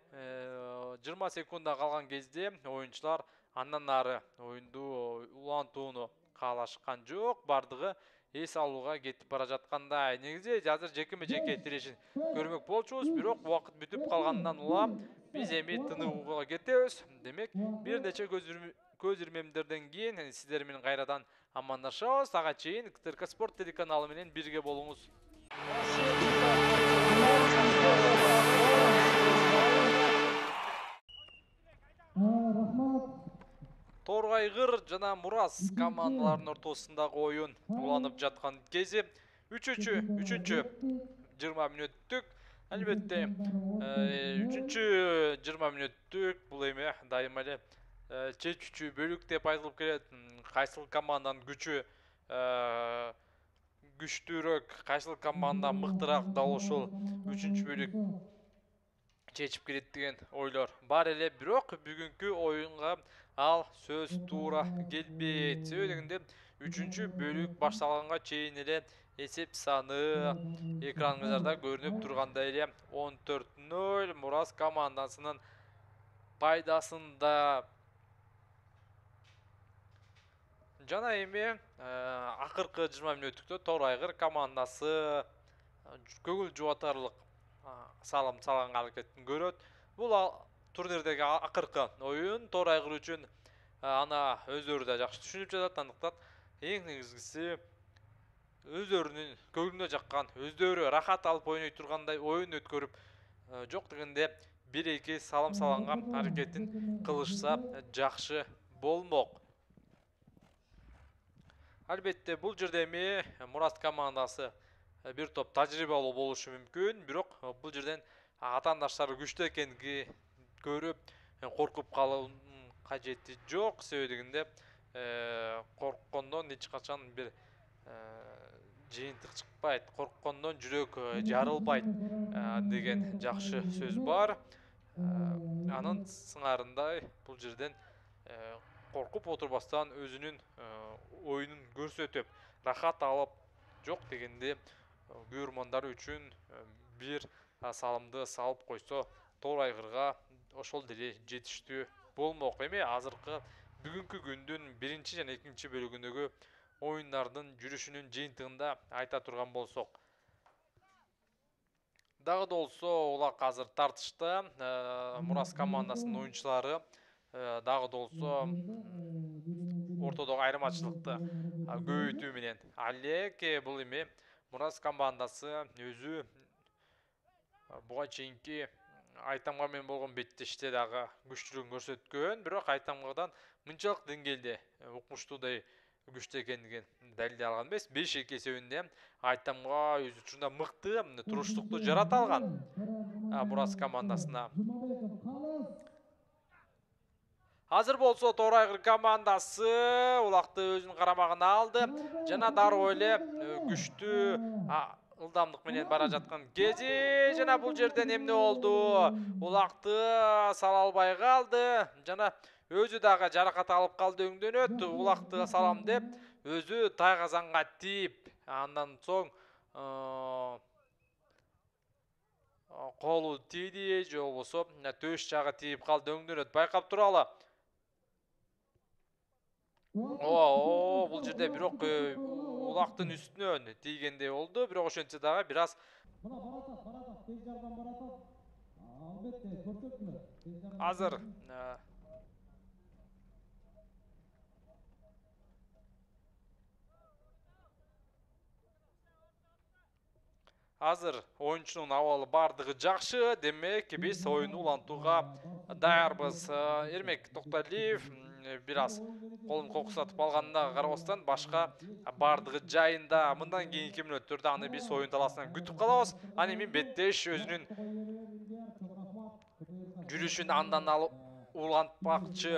жыйырма секунда калган кезде оюнчулар андан ары оюнду улантууну каалашкан жок, бардыгы эс алууга кетип бара жаткандай. Негизи азыр жекеме жеке тирешин көрмөк болчубуз, бирок убакыт бүтүп калгандан улам биз эми тыныууга кетебиз. Демек, бир нече көз ирмемдерден кийин сиздер менен кайрадан амандашабыз. Ага чейин КТРК Спорт телеканалы менен бирге болуңуз. Рахмат. Тор Айгыр жана Мурас командаларынын ортосундагы оюн уланып жаткан кези үчүнчү үчүнчү жыйырма мүнөттүк. Албетте үчүнчү жыйырма мүнөттүк бул эми дайыма эле чечүүчү бөлүк деп айтылып келет. Кайсыл команданын күчү күчтүүрөөк, кайсыл команда мыктыраак, дал ушул үчүнчү бөлүк чечип келет деген ойлор бар эле. Бирок бүгүнкү оюнга ал сөз туура келбейт. Себеби дегенде үчүнчү бөлүк башталганга чейин эле эсеп саны экраныңыздарда көрүнүп тургандай эле он төрт ноль Мурас командасынын пайдасында. Жана эми акыркы жыйырма мүнөттүктө Тор Айгыр командасы көңүл жубатарлык салым салганга аракетин көрөт. Бул турнирдеги акыркы оюн Тор Айгыр үчүн ана өздөрү да жакшы түшүнүп жатат. Андыктан эң негизгиси өздөрүнүн көңүлүнө жаккан, өздөрү рахат алып ойной тургандай оюн өткөрүп, жок дегенде бир эки салым салганга аракетин кылышса жакшы болмок. Албетте бул жерде эми Мурас командасы бир топ тажрыйбалуу болушу мүмкүн, бирок бул жерден атаандаштары күчтүү экенди көрүп коркуп калуунун кажети жок. Себеби дегенде корккондон эч качан бир жыйынтык чыкпайт, корккондон жүрөк жарылбайт деген жакшы сөз бар. Анын сыңарындай бул жерден коркуп отурбастан өзүнүн оюнун көрсөтүп, рахат алып, жок дегенде көрөрмандар үчүн бир салымды салып койсо Тор Айгырга ошол деле жетиштүү болмок. Эми азыркы бүгүнкү күндүн биринчи жана экинчи бөлүгүндөгү оюндардын жүрүшүнүн жыйынтыгында айта турган болсок, дагы да болсо улак азыр тартышта. Мурас командасынын оюнчулары дагы да болсо ортодогу айырмачылыкты көбөйтүү менен алек. Бул эми Мурас командасы өзү буга чейинки Айтамга менен болгон беттеште дагы күчтүүлүгүн көрсөткөн, бирок Айтамгадан мынчалык деңгээлде укмуштуудай күчтүү экендигин далилдей алган эмес. беш эки эсебинде Айтамга өз учурунда мыкты туруштукту жарата алган Мурас командасына. Азыр болсо Тор Айгыр командасы улакты өзүнүн карамагына алды жана дароо эле күчтүү ылдамдык менен бара жаткан кези. Жана бул жерден эмне болду? Улакты сала албай калды жана өзү дагы жаракат алып калды, өңдөнөт. Улакты салам деп өзү тайгазанга тийип, андан соң колу тийди же болбосо төш жагы тийип калды, өңдөнөт. Байкап туралы. О, бул жерде бирок улактын үстүнөн тийгендей болду, бирок ошентсе дагы бир аз Мына баратат, баратат, тез жардам баратат. Албетте, көрсөткүлөр. Тез жардам. азыр э, азыр оюнчунун абалы бардыгы жакшы, демек биз оюнду улантууга даярбыз. Э, Эрмек Токталиев м, бир аз колун кокусатып алганына карабастан башка бардыгы жайында. Мындан кийинки мүнөттөрдө аны биз оюн талаасынан күтүп калабыз. Аны эми Беттеш өзүнүн жүрүшүн андан алып улантпакчы.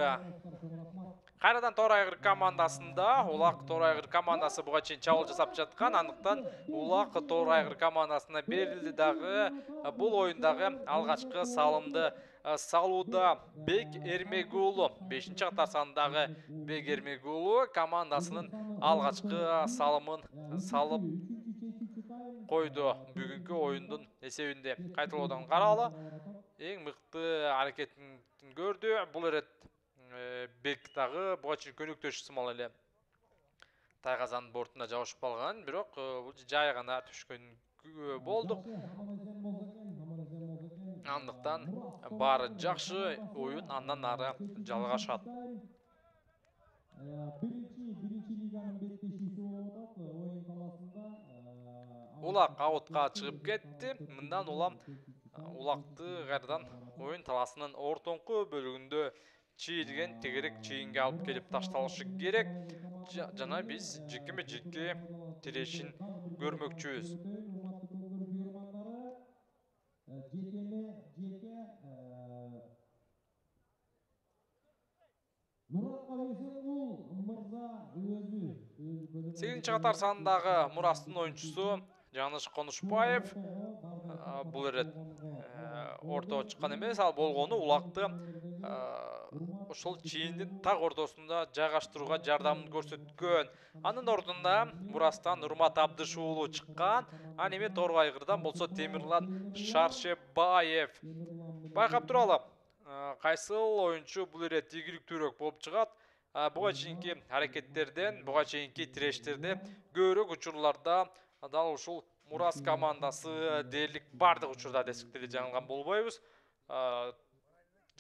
Кайрадан Тор Айгыр командасында Улак Тор Айгыр командасы буга чейин чабуул жасап жаткан, андыктан Улак Тор Айгыр командасына берилди дагы. Бул оюндагы алгачкы салымды салууда Бек Эрмегулу, бешинчи катар сандагы Бек Эрмегулу командасынын алгачкы салымын салып койду. Бүгүнкү оюндун эсебинде кайталоодан каралы эң мыкты аракетин көрдү. Бул ирет Бек дагы буга чейин көнүктөш сымал эле тайгазанын бортуна жабышып калган, бирок бул жай гана түшкөн болдук. Андыктан баары жакшы, оюн андан ары жалгашат. Биринчи лиганын беттешүүсү болуп атат оюн талаасында. Улак аутка чыгып кетти. Мындан улам Улакты кайрадан оюн талаасынын ортоңку бөлүгүндө чийилген тегерек чийинге алып келип ташталышы керек. Жана биз жекеме жеке тирешин көрмөкчүбүз. Жекеме жеке Муратка берсең бул мырза өзү. сегизинчи катар сандагы Мурастын оюнчусу Жаныш Конушбаев. Бул ирет ортого чыккан эмес, ал болгону Улакты ошол чийиндин так ортосунда жайгаштырууга жардамын көрсөткөн. Анын ордуна Мурастан Урмат Абдышуулу чыккан. Аны эми Тор Айгырдан болсо Темирлан Шаршебаев. Байкап туралы, кайсыл оюнчу бул ирет ийгиликтүүрөөк болуп чыгат? Буга чейинки аракеттерден, буга чейинки тирештерде көбүрөөк учурларда дал ушул Мурас командасы дээрлик бардык учурда десек деле жаңылган болбойбуз.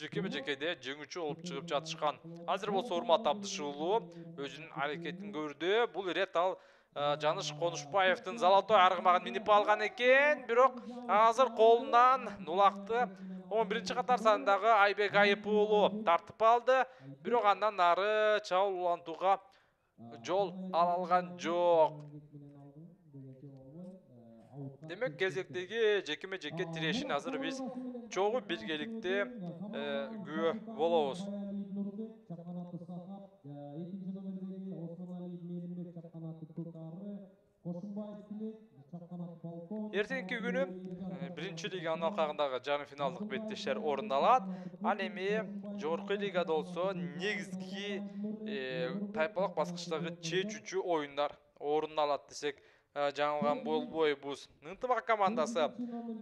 Жекеме жекеде жеңүүчү болуп чыгып жатышкан. Азыр болсо Урмат Абдышуулу өзүнүн аракетин көрдү. Бул ирет ал Жаныш Конушбаевдин золотой аргымагын минип алган экен, бирок азыр колунан Улакты он биринчи катар сандагы Айбек Айыпуулу тартып алды, бирок андан ары чабуул улантууга жол ала алган жок. Демек кезектеги жекеме жеке тирешин азыр биз чогуу биргеликте күбө болобуз. Эртеңки күнү биринчи лиганын алкагындагы жарым финалдык беттештер орун алат. Ал эми жогорку лигада болсо негизги тайпалык баскычтагы чечүүчү оюндар орун алат десек жаңылган болбойбуз. Ынтымак командасы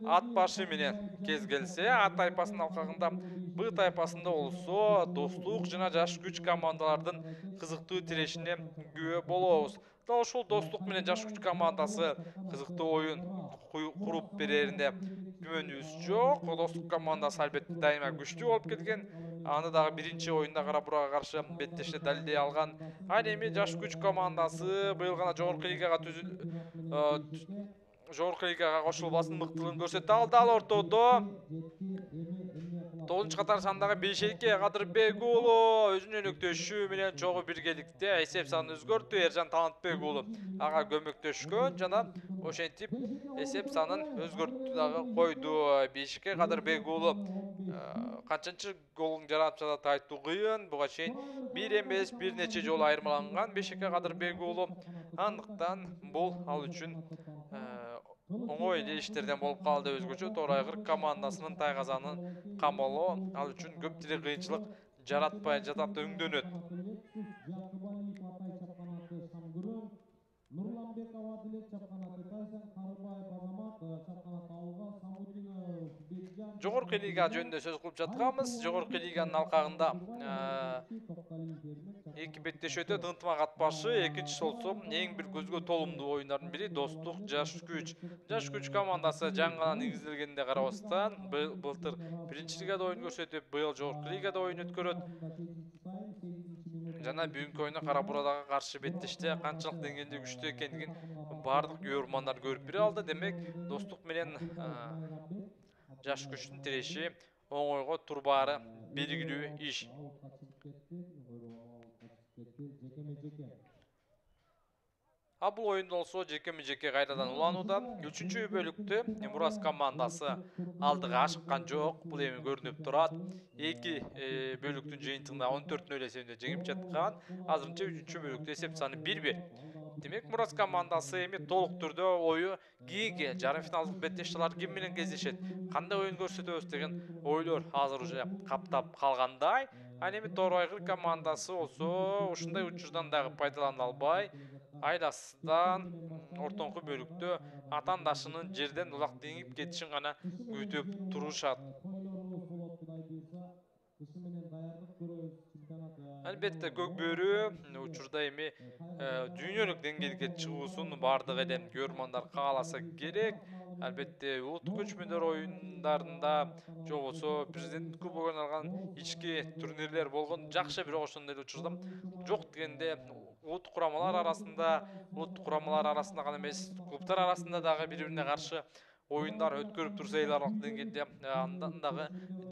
ат башы менен кез келсе, А тайпасынын алкагында Б тайпасында болсо Достук жана Жаш күч командалардын кызыктуу тирешине күбө болобуз. Дал ушул Достук менен Жаш күч командасы кызыктуу оюн куруп берерине күмөнүбүз жок. Достук командасы албетте дайыма күчтүү болуп келген. Аны дагы биринчи оюнда Карабурага каршы беттеште далилдей алган. Ал эми Жаш күч командасы быйыл гана жогорку лигага жогорку лигага кошулбасын мыктылыгын көрсөтө алды. Ал ортодо тогузунчу катар сандагы Бейшейке Кадырбек уулу өзүнүн өнөктөшү менен чогуу биргеликте эсеп санын өзгөртү. Эржан Талантбек уулу ага көмөктөшкөн жана ошентип эсеп санын өзгөртүп дагы койду. Бейшейке Кадырбек уулу канчанчы голун жаратып жатат айтуу кыйын. Буга чейин бир эмес бир нече жолу айырмаланган Бейшейке Кадырбек уулу. Андыктан бул ал үчүн оңой эле иштерден болуп калды. Өзгөчө Тор Айгыр командасынын тайгазанын камалоо ал үчүн көп деле кыйынчылык жаратпай жатат, өңдөнөт. Жогорку лига жөнүндө сөз кылып жатканбыз. Жогорку лиганын алкагында эки беттешүү өтөт. Ынтымак атпашы, экинчisi болсо эң бир көзгө толумдуу оюндардын бири Достук Жаш күч. Жаш күч командасы жаңы негизделгенине карабастан былтыр биринчи лигада оюн көрсөтүп, быйыл жогорку лигада оюн өткөрөт. Жана бүгүнкү оюнда Кара Бурадага каршы беттеште канчалык деңгээлде күчтүү экендигин бардык көрөрмандар көрүп бере алды. Демек, Достук менен Жаш күчтүн тиреши оңойго турбаары белгилүү иш. А бул оюнда болсо жекеме жеке кайрадан уланууда. үчүнчү бөлүктө Мурас командасы алдыга ашыккан жок. Бул эми көрүнүп турат. Эки бөлүктүн жыйынтыгында он төрт нөл эсебинде жеңип жаткан. Азырынча үчүнчү бөлүктө эсеп саны бир бир. Демек, Мурас командасы эми толук түрдө ою кийинки жарым финалдык беттештелер ким менен кездешет, кандай оюн көрсөтөбүз деген ойлор азыр уже каптап калгандай. Ал эми Тоор Айгыр командасы болсо ушундай учурдан дагы пайдалана албай, айласыздан ортоңку бөлүктө атаандашынын жерден улак деңип кетишин гана күтүп турушат. Албетте, Көкбөрү учурда эми дүйнөлүк деңгээлге чыгуусун бардык эле көрөрмандар кааласа керек. Албетте, улуттук көчмөндөр оюндарында же болбосо президенттик кубок ойналган ички турнирлер болгон жакшы, бирок ошондой эле учурда жок дегенде улуттук курамалар арасында, улуттук курамалар арасында гана эмес, клубтар арасында дагы бири-бирине каршы оюндар өткөрүп турса эл аралык деңгээлде андан дагы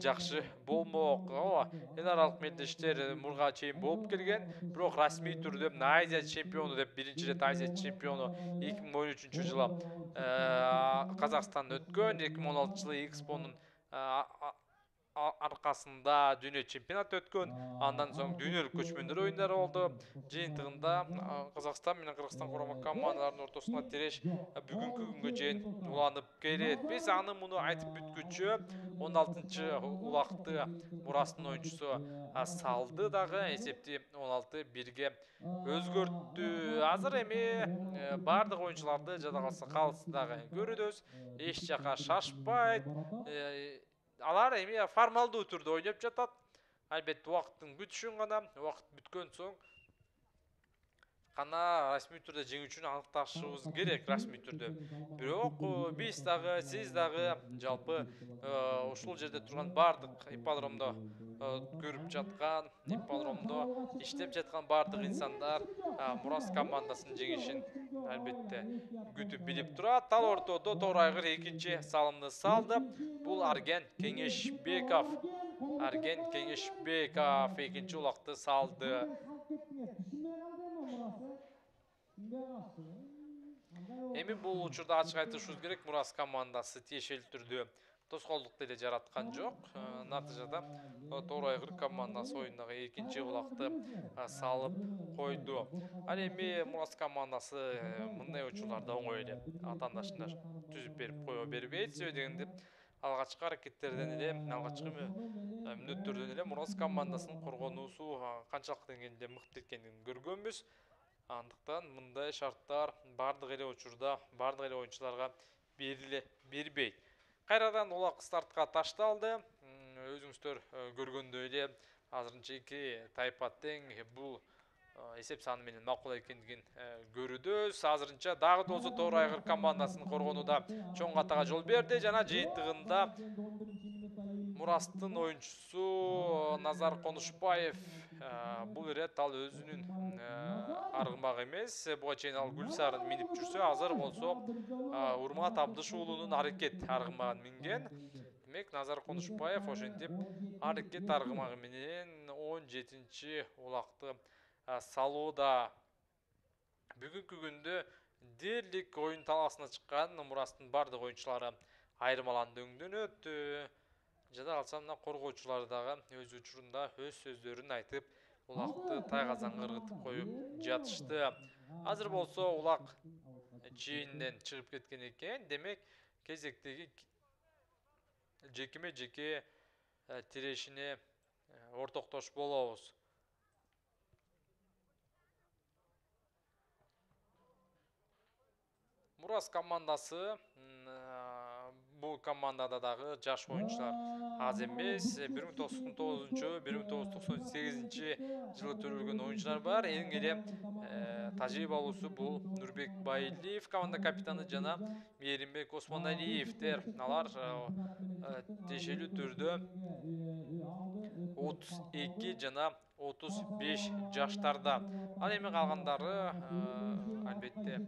жакшы болмок. Ооба, эл аралык мелдештер мурга чейин болуп келген, бирок расмий түрдө Азия чемпиону деп биринчи ирет Азия чемпиону эки миң он үчүнчү жылы Казакстанда өткөн, эки миң он алтынчы жылы Экспонун аркасында дүйнө чемпионаты өткөн. Андан соң дүйнөлүк көчмөндөр оюндары болду. Жыйынтыгында Казакстан менен Кыргызстан курама командаларынын ортосуна тиреш бүгүнкү күнгө чейин уланып келет. Биз аны муну айтып бүткүчө он алтынчы улакты Мурастын оюнчусу салды дагы, эсепти он алты бирге өзгөрттү. Азыр эми бардык оюнчуларды жада калса калыс дагы көрүбүз. Эч жака шашпайт. Алар эми формалдуу түрдө ойноп жатат. Албетте, убакыттын бүтүшүн гана, убакыт бүткөн соң гана расмий түрдө жеңүүчүнү аныкташыбыз керек, расмий түрдө. Бирок биз дагы, сиз дагы, жалпы ушул жерде турган бардык ипподромдо көрүп жаткан, ипподромдо иштеп жаткан бардык инсандар Мурас командасынын жеңишин албетте күтүп билип турат. Ал ортодо Тоор Айгыр экинчи салымды салды. Бул Арген Кеңешбеков. Арген Кеңешбеков экинчи улакты салды. Эми бул учурда ачык айтышыбыз керек, Мурас командасы тиешелүү түрдө тоскоолдук деле жараткан жок. Натыйжада Тоор Айгыр командасы оюндагы экинчи улакты салып койду. Ал эми Мурас командасы мындай учурларда оңой эле атаандашына түзүп берип кое бербейт. Себеби дегенде алгачкы аракеттерден эле, алгачкы мүнөттөрдөн эле Мурас командасынын коргонуусу канчалык деңгээлде мыкты экенин көргөнбүз. Андыктан мындай шарттар бардык эле учурда, бардык эле оюнчуларга бериле бербейт. Кайрадан улак стартка ташталды. Өзүңүздөр көргөндөй эле азырынча эки тайпа тең, бул эсеп саны менен макул экендигин көрүбүз. Азырынча дагы да болсо Тоор Айгыр командасынын коргонууда чоң катага жол берди. Жана жыйынтыгында Мурастын оюнчусу Назар Конушбаев, бул ирет ал өзүнүн аргымак эмес, буга чейин ал Гүлсарын минип жүрсө, азыр болсо Урмат Абдыш уулунун аракет аргымагын минген. Демек, Назар Конушбаев ошентип аракет аргымагы менен он жетинчи улакты салууда. Бүгүнкү күндө дээрлик оюн талаасына чыккан Мурастын бардык оюнчулары айырмаланды өңдөнөт. Жада калса мына коргоочулар дагы өз учурунда өз сөздөрүн айтып, улакты тайгазанга ыргытып коюп жатышты. Азыр болсо улак чийинден чыгып кеткен экен. Демек, кезектеги жекеме жеке тирешине ортоктош болобуз. Мурас командасы бул команда командада дагы жаш оюнчулар аз эмес. бир миң тогуз жүз токсон тогузунчу бир миң тогуз жүз токсон сегизинчи жылы төрөлгөн оюнчулар бар. Эң эле тажрыйбалуусу бул Нурбек Байилиев, команда капитаны, жана Мээримбек Осмоналиевдер. Алар тиешелүү түрдө отуз эки жана отуз беш жаштарда. Ал эми калгандары албетте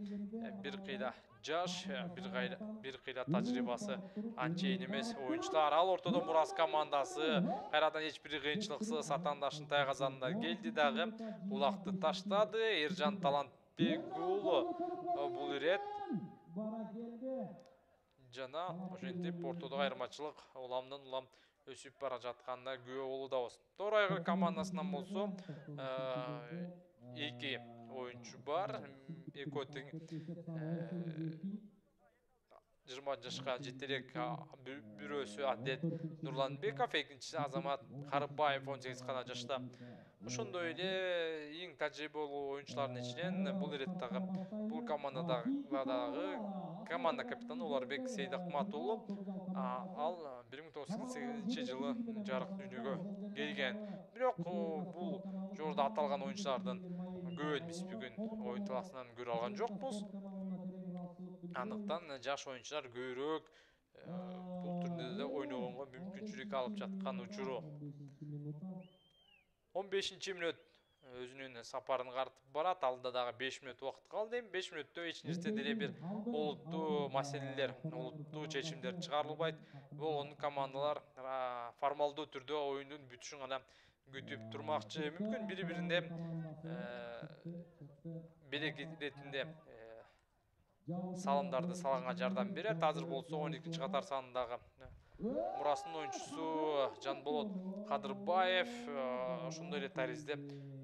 бир кыйла жаш, бир кыйла бир кыйла тажрыйбасы анчейин эмес оюнчулар. Ал ортодо Мурас командасы кайрадан эч бир кыйынчылыксыз атаандаштын тайгазанына келди дагы. Улакты таштады. Эржан Талантбек уулу бул ирет жана ошентип ортодогу айырмачылык уламдан улам өсүп бара жатканына күбө болуудабыз. Тоор айгыр командасынан болсо эки оюнчу бар. Экөө тең жыйырма жашка жете элек, бирөөсү атлет Нурланбеков, экинчиси Азамат Карыбаев он сегиз гана жашта. Ошондой эле эң тажрыйбалуу оюнчулардын ичинен бул иреттагы бул командадагы команда капитаны Уларбек Сейдакмат уулу. Ал бир миң тогуз жүз сексен сегизинчи жылы жарык дүйнөгө келген. Бирок бул жогоруда аталган оюнчулардын көбүн биз бүгүн оюн талаасынан көрө алган жокпуз. Андыктан жаш оюнчулар көбүрөөк бул турнирде ойногонго мүмкүнчүлүк алып жаткан учуру. он бешинчи мүнөт өзүнүн сапарын картып барат. Алда дагы беш мүнөт убакыт калды. Эми беш мүнөттө эч нерсе деле бир олуттуу маселелер, олуттуу чечимдер чыгарылбайт. Болгону командалар формалдуу түрдө оюндун бүтүшүн гана күтүп турмакчы. Мүмкүн бири-биринде белек иретинде салымдарды салганга жардам берет. Азыр болсо он экинчи катар сандагы Мурастын оюнчусу Жанболот Кадырбаев ошондой эле таризде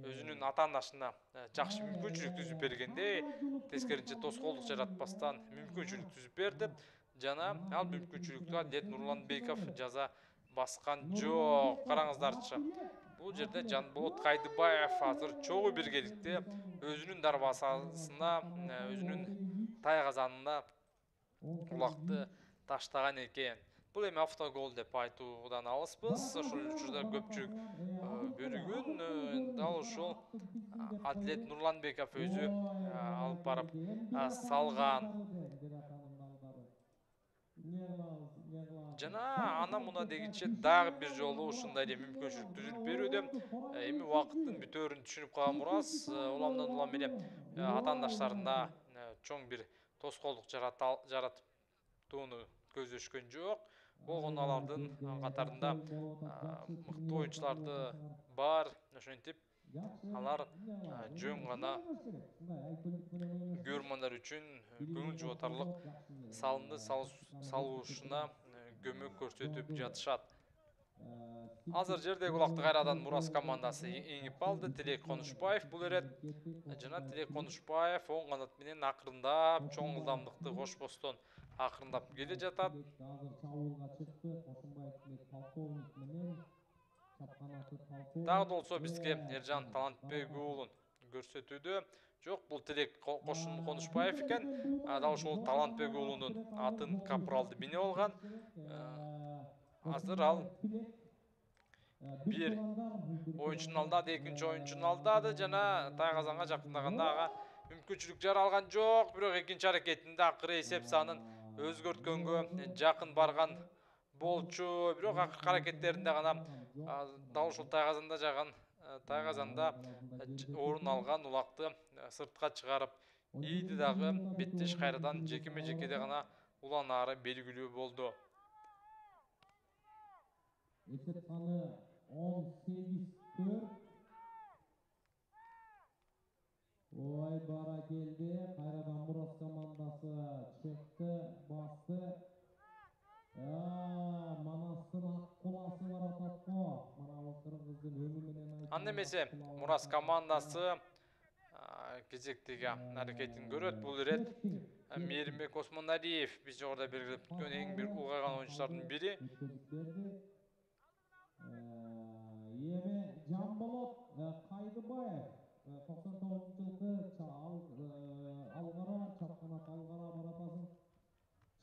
өзүнүн атаандашына жакшы мүмкүнчүлүк түзүп бергенде, тескеринче тоскоолдук жаратпастан мүмкүнчүлүк түзүп берди. Жана ал мүмкүнчүлүктү атлет Нурланбеков жаза баскан жок. Караңыздарчы. Бул жерде Жанболот Кайдыбаев азыр чогуу биргеликте өзүнүн дарбазасына, өзүнүн тайгазанына улакты таштаган экен. Бул эми автогол деп айтуудан алыспыз. Ошол учурда көпчүлүк бөлүгүн дал ушул атлет Нурланбеков өзү алып барып салган. Жана ана муна дегиче дагы бир жолу ушундай эле мүмкүнчүлүк түзүлүп берүүдө. Эми убакыттын бүтөөрүн түшүнүп калган Мурас уламдан улам эле атаандаштарына чоң бир тоскоолдук жаратууну көздөшкөн жок. Болгону алардын катарында мыкты оюнчуларды бар. Ошентип алар жөн гана көрөрмандар үчүн көңүл жубатарлык салымды салуушуна көмөк көрсөтүп жатышат. Азыр жердеги улакты кайрадан Мурас командасы эңип алды. Тилек Конушбаев бул эрет жана Тилек Конушбаев оң канат менен акырындап чоң ылдамдыкты кошпостон акырындап келе жатат. Дагы болсо бизге Эржан Талантбек уулун көрсөтүүдө жок, бул Тилек Конушбаев экен. Дал ушул Талантбек уулунун атын капралды минип алган. Азыр ал бир оюнчунун алдады, экинчи оюнчунун алдады жана тайгазанга жакындаганда ага мүмкүнчүлүк жаралган жок. Бирок экинчи аракетинде акыры эсеп санын өзгөрткөнгө жакын барган болчу. Бирок акыркы аракеттеринде гана дал ушул тайгазанда жаган тайгазанда орун алган улакты сыртка чыгарып ийди дагы беттеш кайрадан жекеме жекеде гана уланаары белгилүү болду. Эсеп саны он сегиз төрт. Ой бара келди. Кайрадан Мурас командасы чыкты, басты. Манастын ак куласы бар ататко. Мана кыргыздын өмү менен айтып. Анда эмесе Мурас командасы кезектеги аракетин көрөт. Бул ирет Мээримбек Осмоналиев биз жогоруда белгилеп өткөн эң бир улгайган оюнчулардын бири. Эми Жанболот Кайдыбаев токсон тогузунчу жылкы алгара чапканат алгара баратасын.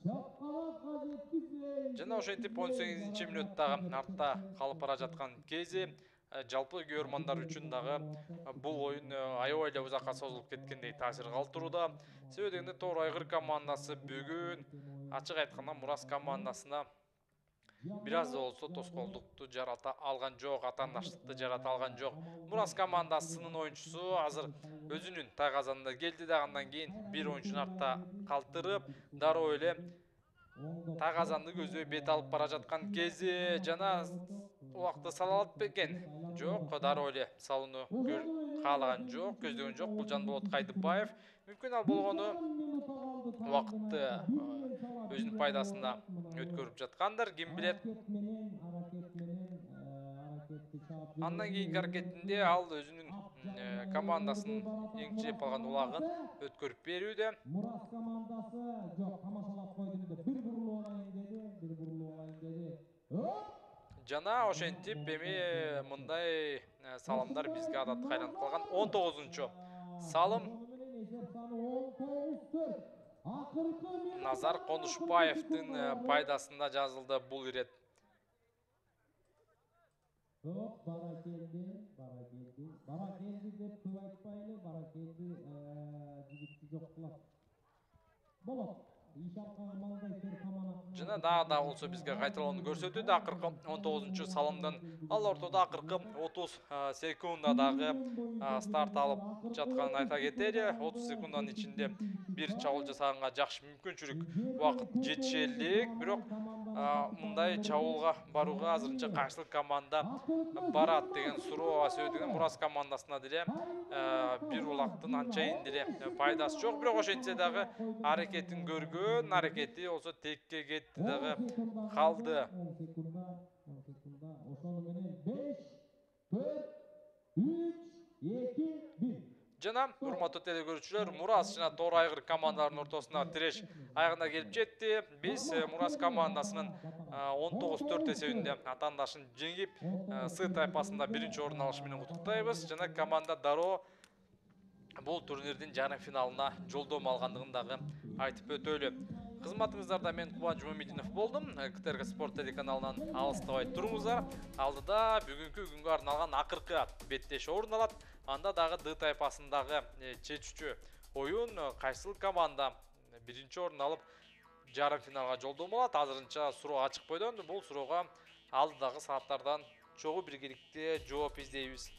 Чапканатка жеткизбей Жана ошентип он сегизинчи мүнөттагы артта калып бара жаткан кези жалпы көрөрмандар үчүн дагы бул оюн аябай эле узакка созулуп кеткендей таасир калтырууда. Себеби дегенде Тоор Айгыр командасы бүгүн ачык айтканда Мурас командасына бир аз да болсо тоскоолдукту жарата алган жок, атаандаштыкты жарата алган жок. Мурас командасынын оюнчусу азыр өзүнүн тайгазанында келди да андан кийин бир оюнчуну артта калтырып, дароо эле тайгазанды көздөй бет алып бара жаткан кези жана убакта сала алат бекен? Жок, дароо эле салууну каалаган жок, көздөгөн жок. Бул Жанболот Кайдыбаев. Мүмкүн ал болгону убакытты өзүнүн пайдасына өткөрүп жаткандыр, ким билет. Андан кийинки аракетинде ал өзүнүн командасынын эңчилеп алган улагын өткөрүп берүүдө. Мурас командасы жок, тамашалап койду деп бир бурулуп алайын деди, бир бурулуп алайын деди. Жана ошентип эми мындай салымдар бизге адатка айланып калган. он тогузунчу салым Назар Конушбаевдин пайдасында жазылды бул ирет. Жок, бара келди, бара келди. Бара келди деп көп айтпайлы, бара келди, жигитти жок кылат. Болот. Жана дагы да болсо бизге кайталоону көрсөтүүдө акыркы он тогузунчу салымдан ал ортодо акыркы отуз секундадагы старт алып жатканын айта кетели. отуз секунддын ичинде бир чабуул жасаганга жакшы мүмкүнчүлүк убакыт жетишелик, бирок мындай чабуулга барууга азырынча каршылык команда барат деген суроо. Себеби деген Мурас командасына деле бир улактын анчайын деле пайдасы жок, бирок ошентсе дагы аракетин көргөн, аракети болсо текке кетти дагы калды. Ошону менен беш, төрт, үч, эки, бир. Жана урматтуу телекөрүүчүлөр, Мурас жана Тоор Айгыр командаларынын ортосуна тиреш аягына келип жетти. Биз Мурас командасынын он тогуз төрт эсебинде атаандашын жеңип, С тайпасында биринчи орун алышы менен куттуктайбыз. Жана команда дароо бул турнирдин жарым финалына жолдомо алгандыгын дагы айтып өтөлү. Кызматыңыздарда мен Кубан Жумамединов болдум. КТРК Спорт телеканалынан алыстабай туруңуздар. Алдыда бүгүнкү күнгө арналган акыркы беттеш орун алат. Анда дагы Д тайпасындагы чечүүчү оюн кайсыл команда биринчи орун алып жарым финалга жолдомо алат. Азырынча суроо ачык бойдон. Бул суроого алдыдагы сааттардан чогуу биргеликте жооп издейбиз.